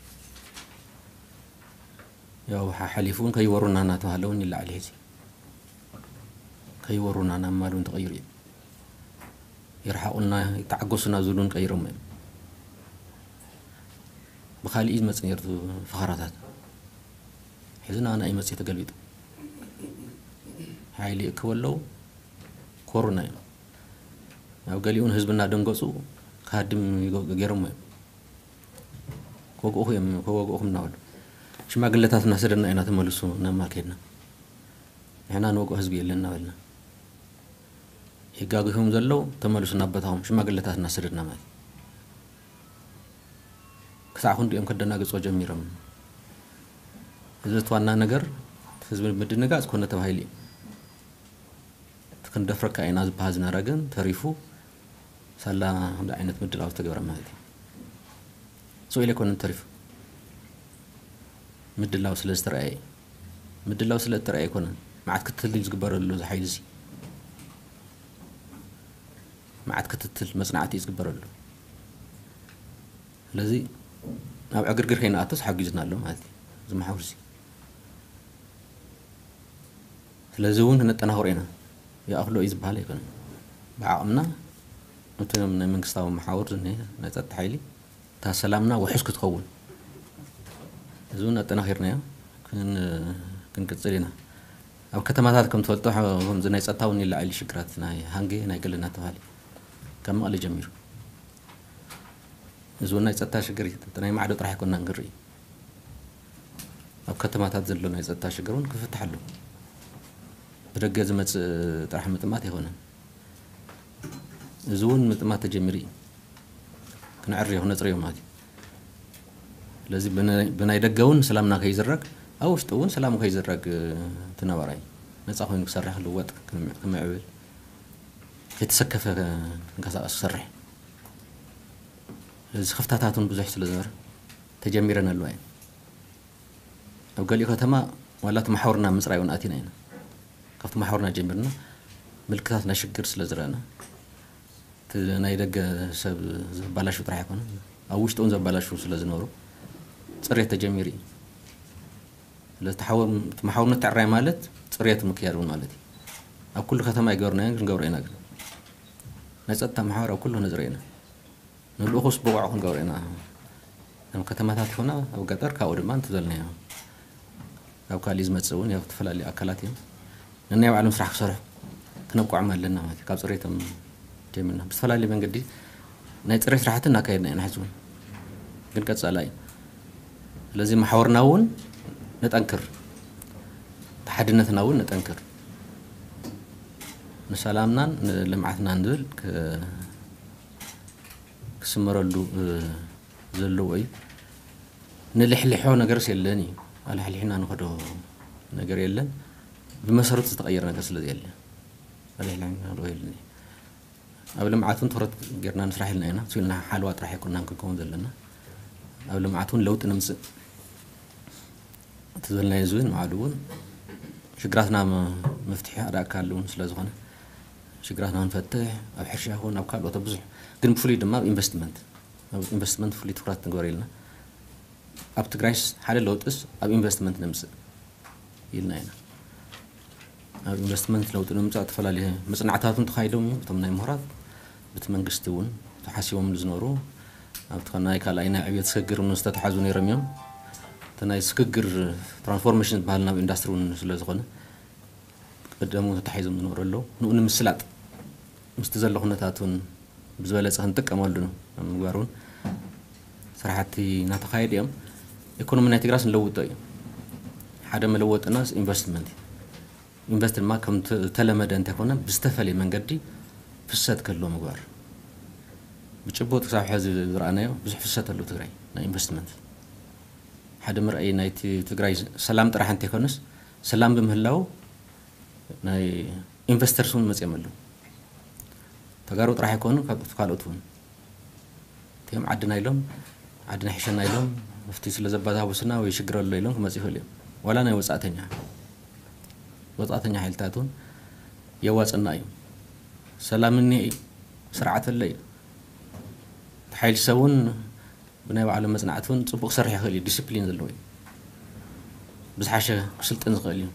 ያው ሓ-፣ ሓሊፉ እውን ከይወሩና እናተባሃለ እውን ይለዓል ሕዚ። ከይወሩና ናብ ማል እውን ተቐይሩ እዩ። ይርሓቑና፣ ይተዓገሱና ዝብሉ እውን ቀይሮም እዮም። ብኻሊእ እዩ ዝመፅእ ነይሩ እቲ ፈኸራታት። ሕዚ ንኣና እዩ መፅእ ተገልቢጡ። ሓይሊ ይእክቡ ኣለዉ። ኮሩና እዮም። ኣብ ገሊኡን ህዝቢ እናደንገጹ ክሃድም ይገ-፣ ገይሮሞ እዮም። ክወግኡኹ እዮም፣ ክወግኡኹም እናበሉ። ሽማግለታት እናሰደድና ኢና ተመልሱ ናብ ማል ከይድና። ንሕና ንወግኦ ህዝቢ የለን እናበልና። የጋግኹም ዘለዉ ተመልሱ ናብ ቦታኹም፣ ሽማግለታት እናሰደድና ማለት እዩ። ክሳዕ ክንድኦም ከደናግጾ ጀሚሮም። እዚ እቲ ዋና ነገር ህዝቢ ምድንጋጽ ኮነ ተባሂሉ እዩ። እቲ ክንደፍረካ ኢና ዝበሃል ዝነበረ ግን ተሪፉ ሳላ ክንዲ ዓይነት ምድላው ዝተገበረ ማለት እዩ። ስቕ ኢሉ ኣይኮነን ተሪፉ። ምድላው ስለ ዝተረኣየ እዩ። ምድላው ስለ እተረኣየ ኣይኮነን። መዓት ክትትል እዩ ዝግበረሉ እዚ ሓይሊ እዚ። መዓት ክትትል መጽናዕቲ እዩ ዝግበረሉ። ስለዚ ኣብ ዕግርግር ከይንኣቱስ ሓጊዝና ኣሎ ማለት እዩ። እዚ መሓውር እዚ። ስለዚ እውን ክነጠናኽሮ ኢና። ይኣኽሎ እዩ ዝበሃል ኣይኮነን። ብዓቕምና ነቶም ናይ መንግስታዊ መሓውር ዝኒሀ ናይ ጸጥታ ሓይሊ እታ ሰላምና ውሑስ ክትኸውን እዚ እውን ኣጠናኺርናዮ ክን-፣ ክንቅጽል ኢና። ኣብ ከተማታት ከም ትፈልጦ፣ ከምዚ ናይ ጸጥታ እውን ይለዓል ሽግራት ናይ ሃንጌ ናይ ገለ እናተባሃለ ካብ መቐለ ጀሚሩ። እዚ እውን ናይ ጸጥታ ሽግር እዩ። ናይ ማዕዶ ጥራሕ ኣይኮንና ንርኢ። ኣብ ከተማታት ዘሎ ናይ ጸጥታ ሽግር እውን ክፍታሕ ኣለዎ። ብደገ ዝመጽእ ጥራሕ ምጥማት ኣይኮነን። እዚ እውን ምጥማት ተጀሚሩ እዩ። ክነዕርዮ፣ ክነጽርዮ ማለት እዩ። ስለዚ ብናይ፣ ብናይ ደገ እውን ሰላምና ከይዝረግ፣ ኣብ ውሽጢ እውን ሰላሙ ከይዝረግ፣ እቲ ነባራይ ነጻ ኮይኑ ክሰርሕ፣ ክልወጥ፣ ክምዕ-፣ ክምዕብል፣ ከይተሰከፈ ክንቀሳቐስ ክሰርሕ። ስለዚ ክፍተታት እውን ብዙሕ ስለ ዝነበረ ተጀሚረን ኣለዋ እየን። ኣብ ገሊኡ ከተማ ዋላ እቲ መሓውርና ምጽራይ እውን ኣቲና ኢና። ካብቲ መሓውርና ጀሚርና ምልክታት ናይ ሽግር ስለ ዝረኣና፣ እቲ ናይ ደገ ሰብ ዘባላሹ ጥራሕ ኣይኮነን፣ ኣብ ውሽጢ እውን ዘባላሹ ስለ ዝነበሩ ጽሬት ተጀሚሩ እዩ። ስለዚ እቲ ሓወ-፣ እቲ መሓውር ምትዕራይ ማለት ጽሬት ምክያድ እውን ማለት እዩ። ኣብ ኩሉ ከተማ ኣይገበርናዮን፣ ክንገብሮ ኢና ግን። ናይ ጸጥታ መሓውር ኣብ ኩሉ ነጽርዮ ኢና። ንልኡኹስ ብቑዕ ክንገብሮ ኢና። ኣብ ከተማታት ይኹና ኣብ ገጠር፣ ካብኡ ድማ እንተዘልናዮ ካብ ካሊእ ዝመጽእ እውን ያው ዝተፈላለዩ ኣካላት እዮም። ነናይ ባዕሎም ስራሕ ክሰርሑ ክነብቅዖም ኣለና ማለት እዩ። ካብ ጽሬቶም ጀሚርና ብዝተፈላለየ መንገዲ ናይ ጽሬት ስራሕቲ እናካየድና ኢና ሕዚ እውን። ግን ቀጻላይ እዩ። ስለዚ መሓውርና እውን ነጠንክር፣ እቲ ሓድነትና እውን ነጠንክር። ንሰላምናን ንልምዓትናን ዝብል ክ-፣ ክስመረሉ፣ እ፣ ዘለዎ እዩ። ንልሕልሖ ነገርስ የለን እዩ። ኣልሕሊሕና ንኸዶ ነገር የለን። ብመሰረቱ ዝተቐየረ ነገር ስለ ዘየለ ኣልሕሊሕና ንኸዶ የለን እዩ። ኣብ ልምዓት እውን ትኹረት ጌርና ንስራሕ ኢልና ኢና። እሱ ኢልና ሓለዋ ጥራሕ ኣይኮንናን ክንከውን ዘለና። ኣብ ልምዓት እውን ለውጢ ነምጽእ። እቲ ዝበልናዮ እዚ እውን ንባዕሉ እውን ሽግራትና ም-፣ መፍትሒ ሓደ ኣካል እውን ስለ ዝኾነ ሽግራትና ንፈትሕ፣ ኣብ ሕርሻ ይኹን ኣብ ካልኦት ኣብ ብዙሕ፣ ግን ብፍሉይ ድማ ኣብ ኢንቨስትመንት፣ ኣብ ኢንቨስትመንት ፍሉይ ትኹረት ንግበር ኢልና። ኣብ ትግራይስ ሓደ ለውጥስ ኣብ ኢንቨስትመንት ነምጽእ ኢልና ኢና። ኣብ ኢንቨስትመንት ለውጢ ንምምጻእ ዝተፈላለዩ መጽናዕትታት እውን ተኻይዶም እዮም። እቶም ናይ ምሁራት፣ በቲ መንግስቲ እውን ተሓሲቦምሉ ዝነበሩ፣ ኣብቲ ናይ ካልኣይ ናይ ዕብየት ስግግር እውን ዝተተሓዙ ነይሮም እዮም። እቲ ናይ ስግግር ትራንስፎርሜሽን ዝበሃል ናብ ኢንዳስትሪ እውን ስለ ዝኾነ፣ ቀደሙ ተታሒዞም ዝነበሩ ኣለዉ። ንኡ ንምስላጥ ምስቲ ዘሎ ኩነታት እውን ብዝበለጸ ክንጥቀመሉ ኣብ ምግባር እውን ስራሕቲ እናተኻየዱ እዮም። ኢኮኖሚ ናይ ትግራይስ ንለውጦ እዩ። ሓደ መለወጥናስ ኢንቨስትመንት እዩ። ኢንቨስት ድማ ከም ተ-፣ ዝተለመደ እንተይኮነ ብዝተፈለየ መንገዲ ፍሰት ክህልዎ ምግባር። ብጭቡጥ ክሳብ ሕዚ ዝረኣናዮ ብዙሕ ፍሰት ኣለዎ ትግራይ ናይ ኢንቨስትመንት። ሓደ መርኣይ ናይቲ ትግራይ ሰላም ጥራሕ እንተይኮነስ ሰላም ብምህላው ናይ ኢንቨስተርስ እውን መፅኦም ኣለዉ። ተጋሩ ጥራሕ ኣይኮኑ፣ ካብ ካልኦት እውን እቲኦም ዓድና ኢሎም፣ ዓድና ሒሸና ኢሎም፣ ኣብቲ ስለ ዘባታብሱና ወይ ሽግር ኣሎ ኢሎም ክመፁ ይኽእሉ እዮም። ዋላ ናይ ወፃእተኛ፣ ወፃእተኛ ሓይልታት እውን የዋፅና እዩ። ሰላም እኒሀ እዩ፣ ስርዓት ኣሎ እዩ። እቲ ሓይሊ ሰብ እውን ብናይ ባዕሎም መፅናዕቲ እውን ፅቡቅ ክሰርሕ ይኽእል እዩ፣ ዲስፕሊን ዘለዎ እዩ። ብዝሓሸ ክስልጥን ዝኽእል እዩ።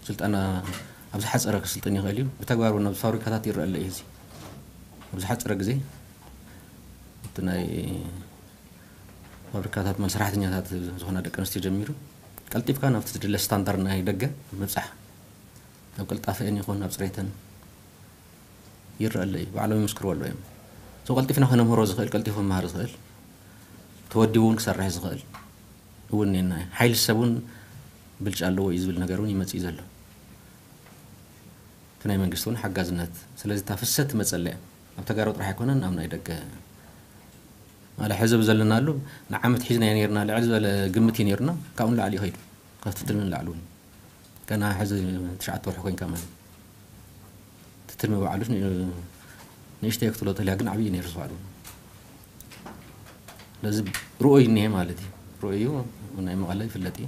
ስልጠና ኣብ ዝሓፀረ ክስልጥን ይኽእል እዩ። ብተግባር እውን ኣብ ፋብሪካታት ይረአ ኣሎ እዩ። እዚ ኣብ ዝሓፀረ ግዜ እቲ ናይ ፋብሪካታት መን ሰራሕተኛታት ዝኾና ደቂ ኣንስትዮ ጀሚሩ ቀልጢፍካ ናብቲ ዝድለ ስታንዳርድ ናይ ደገ ምብፃሕ። ኣብ ቅልጣፈአን ይኹን ኣብ ፅሬተን ይረአ ኣሎ እዩ። ባዕሎም ይምስክርዎ ኣለዉ እዮም። ሰው ቀልጢፍና ከነምህሮ ዝኽእል፣ ቀልጢፉ መሃር ዝኽእል፣ ተወዲቡ እውን ክሰርሕ ዝኽእል እውን እኒአና እዩ። ሓይሊ ሰብ እውን ብልጫ ኣለዎ እዩ ዝብል ነገር እውን ይመፅእ እዩ ዘሎ። እቲ ናይ መንግስቲ እውን ሓጋዝነት። ስለዚ እታ ፍሰት ትመፀለያ ኣብ ተጋሩ ጥራሕ ኣይኮነን፣ ኣብ ናይ ደገ ማለት ሕዚ ዘለናሉ ንዓመት ሒዝናዮ ነርና፣ ልዕል ዝበለ ግምት እዩ ነርና። ካብኡ ንላዕሊ ይኸይዱ፣ ካብቲ ትልሚ ንላዕሊ እውን። ገና ሕዚ ትሽዓተ ወርሒ ኮይንካ ማለት እዩ። እቲ ትልሚ ባዕሉስ ን-፣ ንእሽተይ ክትብሎ ተልያ ግን ዓብዪ ነይሩ ዝባዕሉ። ስለዚ ርኡይ እኒሄ ማለት እዩ። ርኡይ እዩ፣ ናይ መቐለ ይፍለጥ እዩ።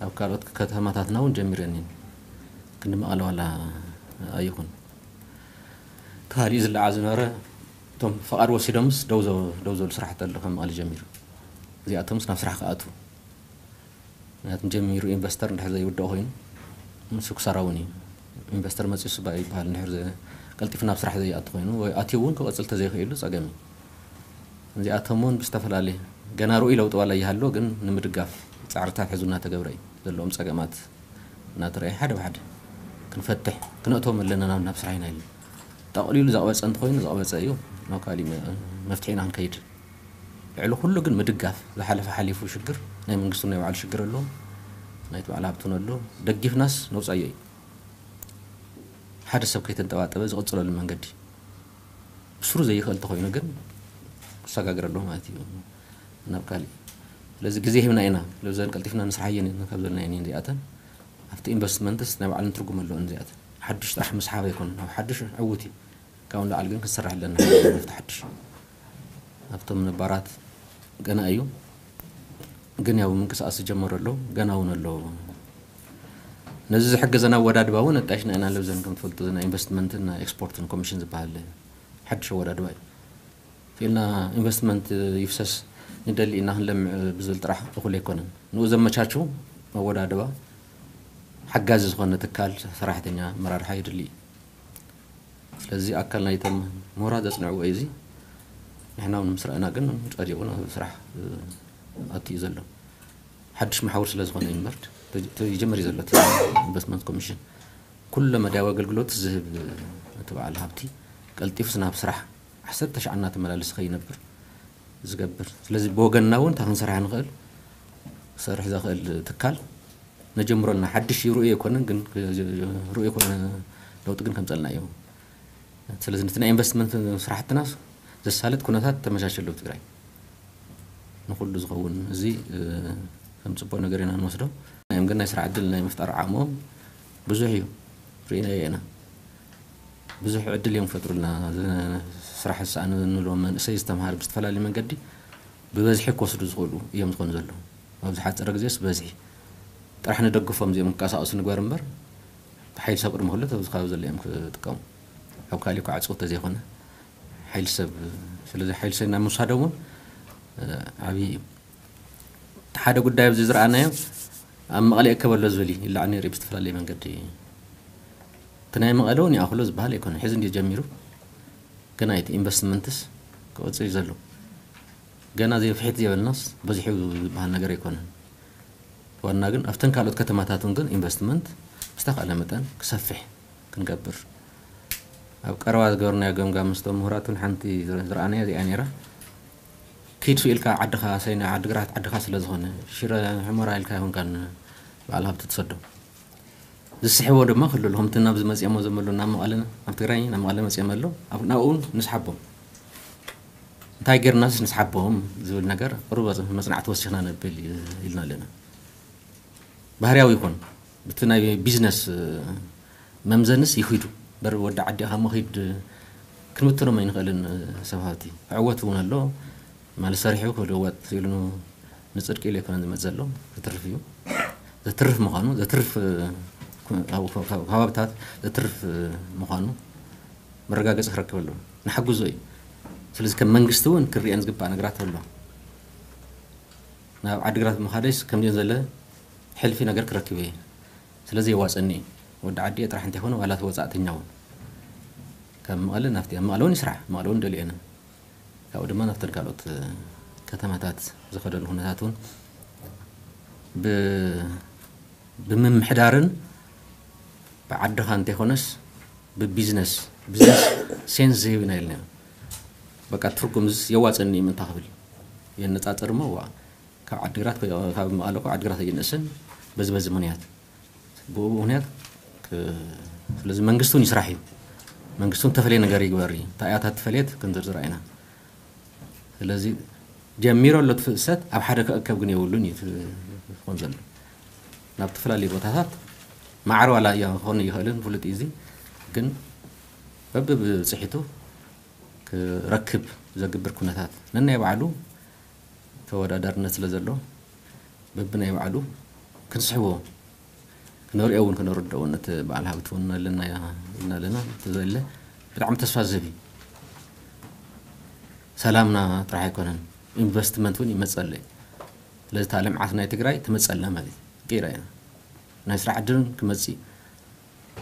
ኣብ ካልኦት ከተማታትና እውን ጀሚረን እየን። ክንዲ መቐለ ዋላ ኣይኹን። ካሊእ ዝለዓ ዝነበረ እቶም ፈቓድ ወሲዶምስ ደው ዘ-፣ ደው ዘብሉ ስራሕቲ ኣሎ ከም መቐለ ጀሚሩ። እዚኣቶምስ ናብ ስራሕ ክኣትዉ። ምክንያቱ ጀሚሩ ኢንቨስተር እንድሕር ዘይውድኦ ኮይኑ ምስ ክሳራ እውን እዩ። ኢንቨስተር መፂኡ ስባ ይበሃል እንድሕር ዘ-፣ ቀልጢፉ ናብ ስራሕ ዘይኣቱ ኮይኑ ወይ ኣትዩ እውን ክቐፅል ተዘይኽእሉ ፀገም እዩ። እዚኣቶም እውን ብዝተፈላለየ ገና ርኡይ ለውጢ ዋላ ይሃሎ ግን ንምድጋፍ ፃዕርታት ሕዙ እናተገብረ እዩ። ዘለዎም ፀገማት እናተረኣየ ሓደ ብሓደ ክንፈትሕ ክነእቶም ኣለና ናብ፣ ናብ ስራሕ ኢና ኢሉ። ጠቕሊሉ ዘቕበፀ እንተኾይኑ ዘቕበፀ እዩ። ናብ ካሊእ መ-፣ መፍትሒ ኢና ክንከይድ። ልዕሊ ኩሉ ግን ምድጋፍ፣ ዝሓለፈ ሓሊፉ ሽግር ናይ መንግስቱ ናይ ባዕሉ ሽግር ኣለዎ፣ ናይቲ ባዕሉ ሃብቲ እውን ኣሎ። ደጊፍናስ ነውፃዮ እዩ። ሓደ ሰብ ከይተንጠባጠበ ዝቕፅለሉ መንገዲ ብስሩ ዘይኽእል ተኾይኑ ግን ክሰጋገር ኣለዎ ማለት እዩ ናብ ካሊእ። ስለዚ ግዜ ሂብና ኢና፣ ለብዘን ቀልጢፍና ንስራሕ እየን ካብ ዘለና እየን እዚኣተን። ኣብቲ ኢንቨስትመንትስ ናይ ባዕለን ትርጉም ኣለወን እዚኣተን። ሓዱሽ ጥራሕ ምስሓብ ኣይኮነን፣ ኣብ ሓዱሽ ዕውት እዩ። ካብኡ ንላዕሊ ግን ክንሰርሕ ኣለና። መፍትሒ ሓድሽ ኣብቶም ነባራት ገና እዩ፣ ግን ያው ምንቅስቃስ ዝጀመሩ ኣለዉ፣ ገና እውን ኣለዉ። ነዚ ዝሕግዘና ኣወዳድባ እውን ኣጣይሽና ኢና። ለብዘን ከም ትፈልጡ ናይ ኢንቨስትመንትን ናይ ኤክስፖርትን ኮሚሽን ዝበሃል ሓድሽ ኣወዳድባ እዩ። ክኢልና ኢንቨስትመንት ይፍሰስ ንደሊ ኢና ክንለምዕ ብዝብል ጥራሕ እኹል ኣይኮነን። ንኡ ዘመቻችው ኣወዳድባ ሓጋዚ ዝኾነ ትካል ሰራሕተኛ ኣመራርሓ የድሊ እዩ። ስለዚ ኣካል ናይቶም ምሁራት ዘጽንዕዎ እዩ። እዚ ንሕና እውን ምስ ረኣና ግን ጸዲቑ ናብ ስራሕ፣ እ፣ ኣትዩ ዘሎ ሓድሽ መሓውር ስለ ዝኾነ እዩ እምበር፣ ተ-፣ ተ-፣ ይጀምር እዩ ዘሎ እቲ ኢንቨስትመንት ኮሚሽን። ኩለ መዳያዊ ኣገልግሎት ዝህብ እቲ በዓል ሃብቲ ቀልጢፉስ ናብ ስራሕ ዓሰርተ ሻዕ እናተመላለሰ ከይነብር ዝገብር። ስለዚ ብወገንና እውን እንታይ ክንሰርሕ ንኽእል፣ ክሰርሕ ዘኽእል ትካል ነጀምሮ ኣለና። ሓድሽ ርኡይ ኣይኮነን፣ ግን ርኡይ ኣይኮነ ለውጢ ግን ከምፀልና እዩ። ስለዚ ነቲ ናይ ኢንቨስትመንት ስራሕትና ዘሳልጥ ኩነታት ተመቻችሉ ኣብ ትግራይ ንኹሉ ዝኸውን። እዚ፣ እ፣ ከም ፅቡቅ ነገር ኢና ንወስዶ። እዮም ግን ናይ ስራሕ ዕድል ናይ ምፍጣር ዓቕሞም ብዙሕ እዩ። ርኢናዮ ኢና። ብዙሕ ዕድል እዮም ክፈጥሩልና። ዝ-፣ ስራሕ ዝሰኣኑ ንብሎም መንእሰይ ዝተምሃረ ብዝተፈላለየ መንገዲ ብበዝሒ ክወስዱ ዝኽእሉ እዮም ዝኾኑ ዘለዉ። ኣብ ዝሓፀረ ግዜስ ብበዝሒ ጥራሕ ንደግፎም፣ እዚኦም ክንቀሳቐሱ ንግበር እምበር፣ ብሓይሊ ሰብ ቅድሚ ኩሉ ኣብዚ ከባቢ ዘሎ እዮም ክጥቀሙ። ኣብ ካሊእ እኳ ዕፁው ተዘይኮነ ሓይሊ ሰብ፣ ስለዚ ሓይሊ ሰብ ናብ ምውሳዶም እውን፣ እ፣ ዓብዪ እዩ። እቲ ሓደ ጉዳይ ኣብዚ ዝረኣናዮ ኣብ መቐለ ይእከብ ኣሎ ዝብል እዩ፣ ይለዓል ነይሩ ብዝተፈላለየ መንገዲ። እቲ ናይ መቐለ እውን ይኣኽሎ ዝበሃል ኣይኮነ፣ ሕዚ እንዲ ጀሚሩ፣ ግን እቲ ኢንቨስትመንትስ ክቕፅል እዩ ዘሎ። ገና ዘይፍሒት ዘይበልናስ በዚሑ ዝበሃል ነገር ኣይኮነን። ዋና ግን ኣብተን ካልኦት ከተማታት እውን ግን ኢንቨስትመንት ብዝተኻእለ መጠን ክሰፍሕ ክንገብር ኣብ ቀረባ ዝገበርናዮ ገምጋም ምስቶም ምሁራት እውን ሓንቲ ዝረ-፣ ዝረኣናዮ እዚኣ ነይራ። ኪድ ኢልካ ዓድኻ፣ ሰይና ዓድግራት ዓድኻ ስለ ዝኾነ፣ ሽረ ሕመራ ኢልካ ኣይኮንካን በዓል ሃብቲ ትሰዶ። ዝስሕቦ ድማ ክህሉ ኣሎ። ከምቲ ናብዚ መፂኦሞ ዘመሉ ናብ መቐለ፣ ናብ ትግራይ ናብ መቐለ መፂኦም ኣሎ። ኣብ-፣ ናብኡ እውን ንስሓቦም። እንታይ ጌርናስ ንስሓቦም ዝብል ነገር ቁሩብ መጽናዕቲ ወሲኽና ነብል ኢልና ኣለና። ባህርያዊ ይኹን ብቲ ናይ ቢዝነስ መምዘንስ ይኺዱ። በር ወዲ ዓዲ ኢኻ መኺድ ክንብትኖም ኣይንኽእልን። ሰብ ሃብቲ ክዕወት እውን ኣሎ። ማለት ሰሪሑ ክልወጥ ኢሉ ንጽድቂ ኢሉ ኣይኮነን ዝመጽእ ዘሎ። ዘትርፍ እዩ። ዘትርፍ ምዃኑ፣ ዘትርፍ፣ ኣብ ከባብታት ዘትርፍ ምዃኑ መረጋገጺ ክረክብ ኣለዎ። ንሓግዞ እዩ። ስለዚ ከም መንግስቲ እውን ክርኤን ዝግባእ ነገራት ኣሎ። ናብ ዓዲግራት ምኻደይስ ከምዚኦም ዘለ ሕልፊ ነገር ክረክብ እየ። ስለዚ የዋፀኒ እዩ። ወዲ ዓዲ እየ ጥራሕ እንተይኮነ ዋላ እቲ ወፃእተኛ እውን ካብ መቐለ ናብቲ፣ ኣብ መቐለ እውን ይስራሕ፣ መቐለ እውን ደልየነ። ካብኡ ድማ ናብተን ካልኦት ከተማታት ዝኸደሉ ኩነታት እውን ብ-፣ ብምምሕዳርን ብዓድኻ እንተይኮነስ ብቢዝነስ፣ ቢዝነስ ሴንስ ዝህብ ኢና ኢልና። በቃ ትርጉም ዝስ የዋፅን እዩ ምንታ ክብል የነፃፅር እሞ ዋ፣ ካብ ዓድግራት ከ- ካብ መቐለ እኮ ዓድግራት ኣይንእስን። በዚ በዚ ምክንያት ብኡ ምክንያት ክ- ስለዚ መንግስቱን ይስራሕ እዩ። መንግስቱን ተፈለየ ነገር ይግበር እዩ። እንታይ እያ እታ ተፈለየት ክንዝርዝራ ኢና። ስለዚ ጀሚሮ ኣሎ እቲ ፍሰት ኣብ ሓደ ክእከብ ግን የብሉን እዩ እቲ ዝኾን ዘሎ። ናብ ዝተፈላለዩ ቦታታት ማዕረ ዋላ እያ ክኾን ይኽእልን ፍሉጥ እዩ። እዚ ግን በብብፅሒቱ ክረክብ ዘግብር ኩነታት ነናይ ባዕሉ ተወዳዳርነት ስለ ዘሎ በብናይ ባዕሉ ክንስሕቦ ክነርእዮ እውን ክነረድኦ እውን እቲ በዓል ሃብቲ እውን ኣለና ኢና ኣለና። እቲ ዘለ ብጣዕሚ ተስፋ ዝህብ እዩ። ሰላምና ጥራሕ ኣይኮነን፣ ኢንቨስትመንት እውን ይመፀለ እዩ። ስለዚ እታ ልምዓት ናይ ትግራይ ትመፀላ ማለት እዩ። ቀይራ ኢና ናይ ስራሕ ዕድልን ክመፅእ እዩ።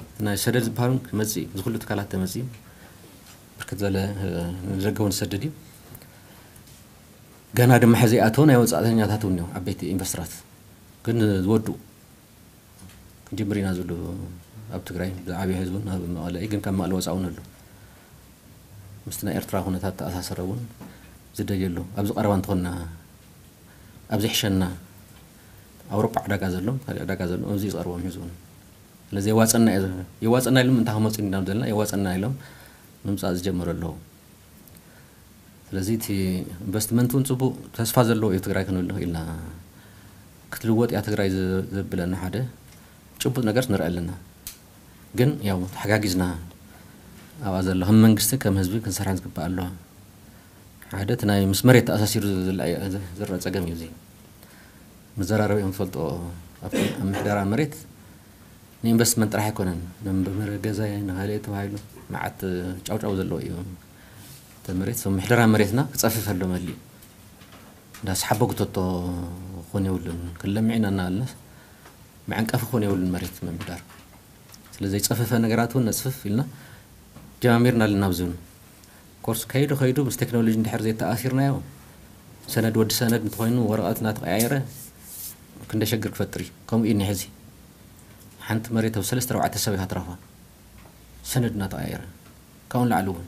እቲ ናይ ሰደድ ዝበሃሉ ክመፅእ እዩ። እዚ ኩሉ ትካላት ተመፅኡ ብርክት ዝበለ ንደገ እውን ዝሰድድ እዩ። ገና ድማ ሕዚ ይኣተው ናይ ወፃእተኛታት እውን እዮም ዓበይቲ ኢንቨስተራት ግን ዝወዱ ክንጅምር ኢና ዝብሉ ኣብ ትግራይ ብዓብዪ ህዝብን ኣብ መቐለ እዩ። ግን ካብ መቐለ ወፃ እውን ኣሎ ምስቲ ናይ ኤርትራ ኩነታት ተኣሳሰረ እውን ዝደልዩ ኣሎ። ኣብዚ ቀረባ እንተኾንና ኣብዚ ሕሸና ኣውሮጳ ዕዳጋ ዘሎ ካልእ ዕዳጋ ዘሎ ኣብዚ ዝቐርቦም ሕዚ እውን ስለዚ የዋፀና እዩ የዋፀና ኢሎም እንታይ ክመፁ ኢና ዘለና የዋፀና ኢሎም ምምፃእ ዝጀመሩ ኣለዉ። ስለዚ እቲ ኢንቨስትመንት እውን ፅቡቅ ተስፋ ዘለዎ እዩ ትግራይ ክንብል ንኽእል ኢና። ክትልወጥ እያ ትግራይ ዘብለና ሓደ ጭቡጥ ነገር ንርኢ ኣለና። ግን ያው ተሓጋጊዝና ኣብኣ ዘሎ ከም መንግስቲ ከም ህዝቢ ክንሰርሐን ዝግባእ ኣለዋ። ሓደ እቲ ናይ ምስ መሬት ተኣሳሲሩ ዝረአ ፀገም እዩ እዚ። መዘራረቢ እዮም ዝፈልጦ ኣብ ምሕደራ መሬት ንኢንቨስትመንት ጥራሕ ኣይኮነን። ንመንበሪ ገዛ ንካልእ ተባሂሉ መዓት ጫውጫው ዘለዎ እዩ። እቲ መሬት ሰብ ምሕደራ መሬትና ክፀፍፍ ኣሎ መሊኡ እንዳስሓቦ ክተቶ ክኾን የብሉን። ክንለምዕ ኢና እናበልና መዐንቀፊ ክኾን የብሉን መሬት ምምሕዳር። ስለ ዘይፀፈፈ ነገራት እውን ነፅፍፍ ኢልና ጀማሚርና ኣለና። ኣብዚ እውን ኮርስ ከይዱ ከይዱ ምስ ቴክኖሎጂ እንድሕር ዘይተኣሲርናዮ ሰነድ ወዲ ሰነድ እንተኾይኑ ወረቐት እናተቐያየረ ክንደ ሸግር ክፈጥር እዩ። ከምኡ እዩ እኒሐ እዚ ሓንቲ መሬት ኣብ ሰለስተ ኣርባዕተ ሰብ ኢኻ ትረኽባ ሰነድ እናተቐያየረ ካብኡ ንላዕሊ እውን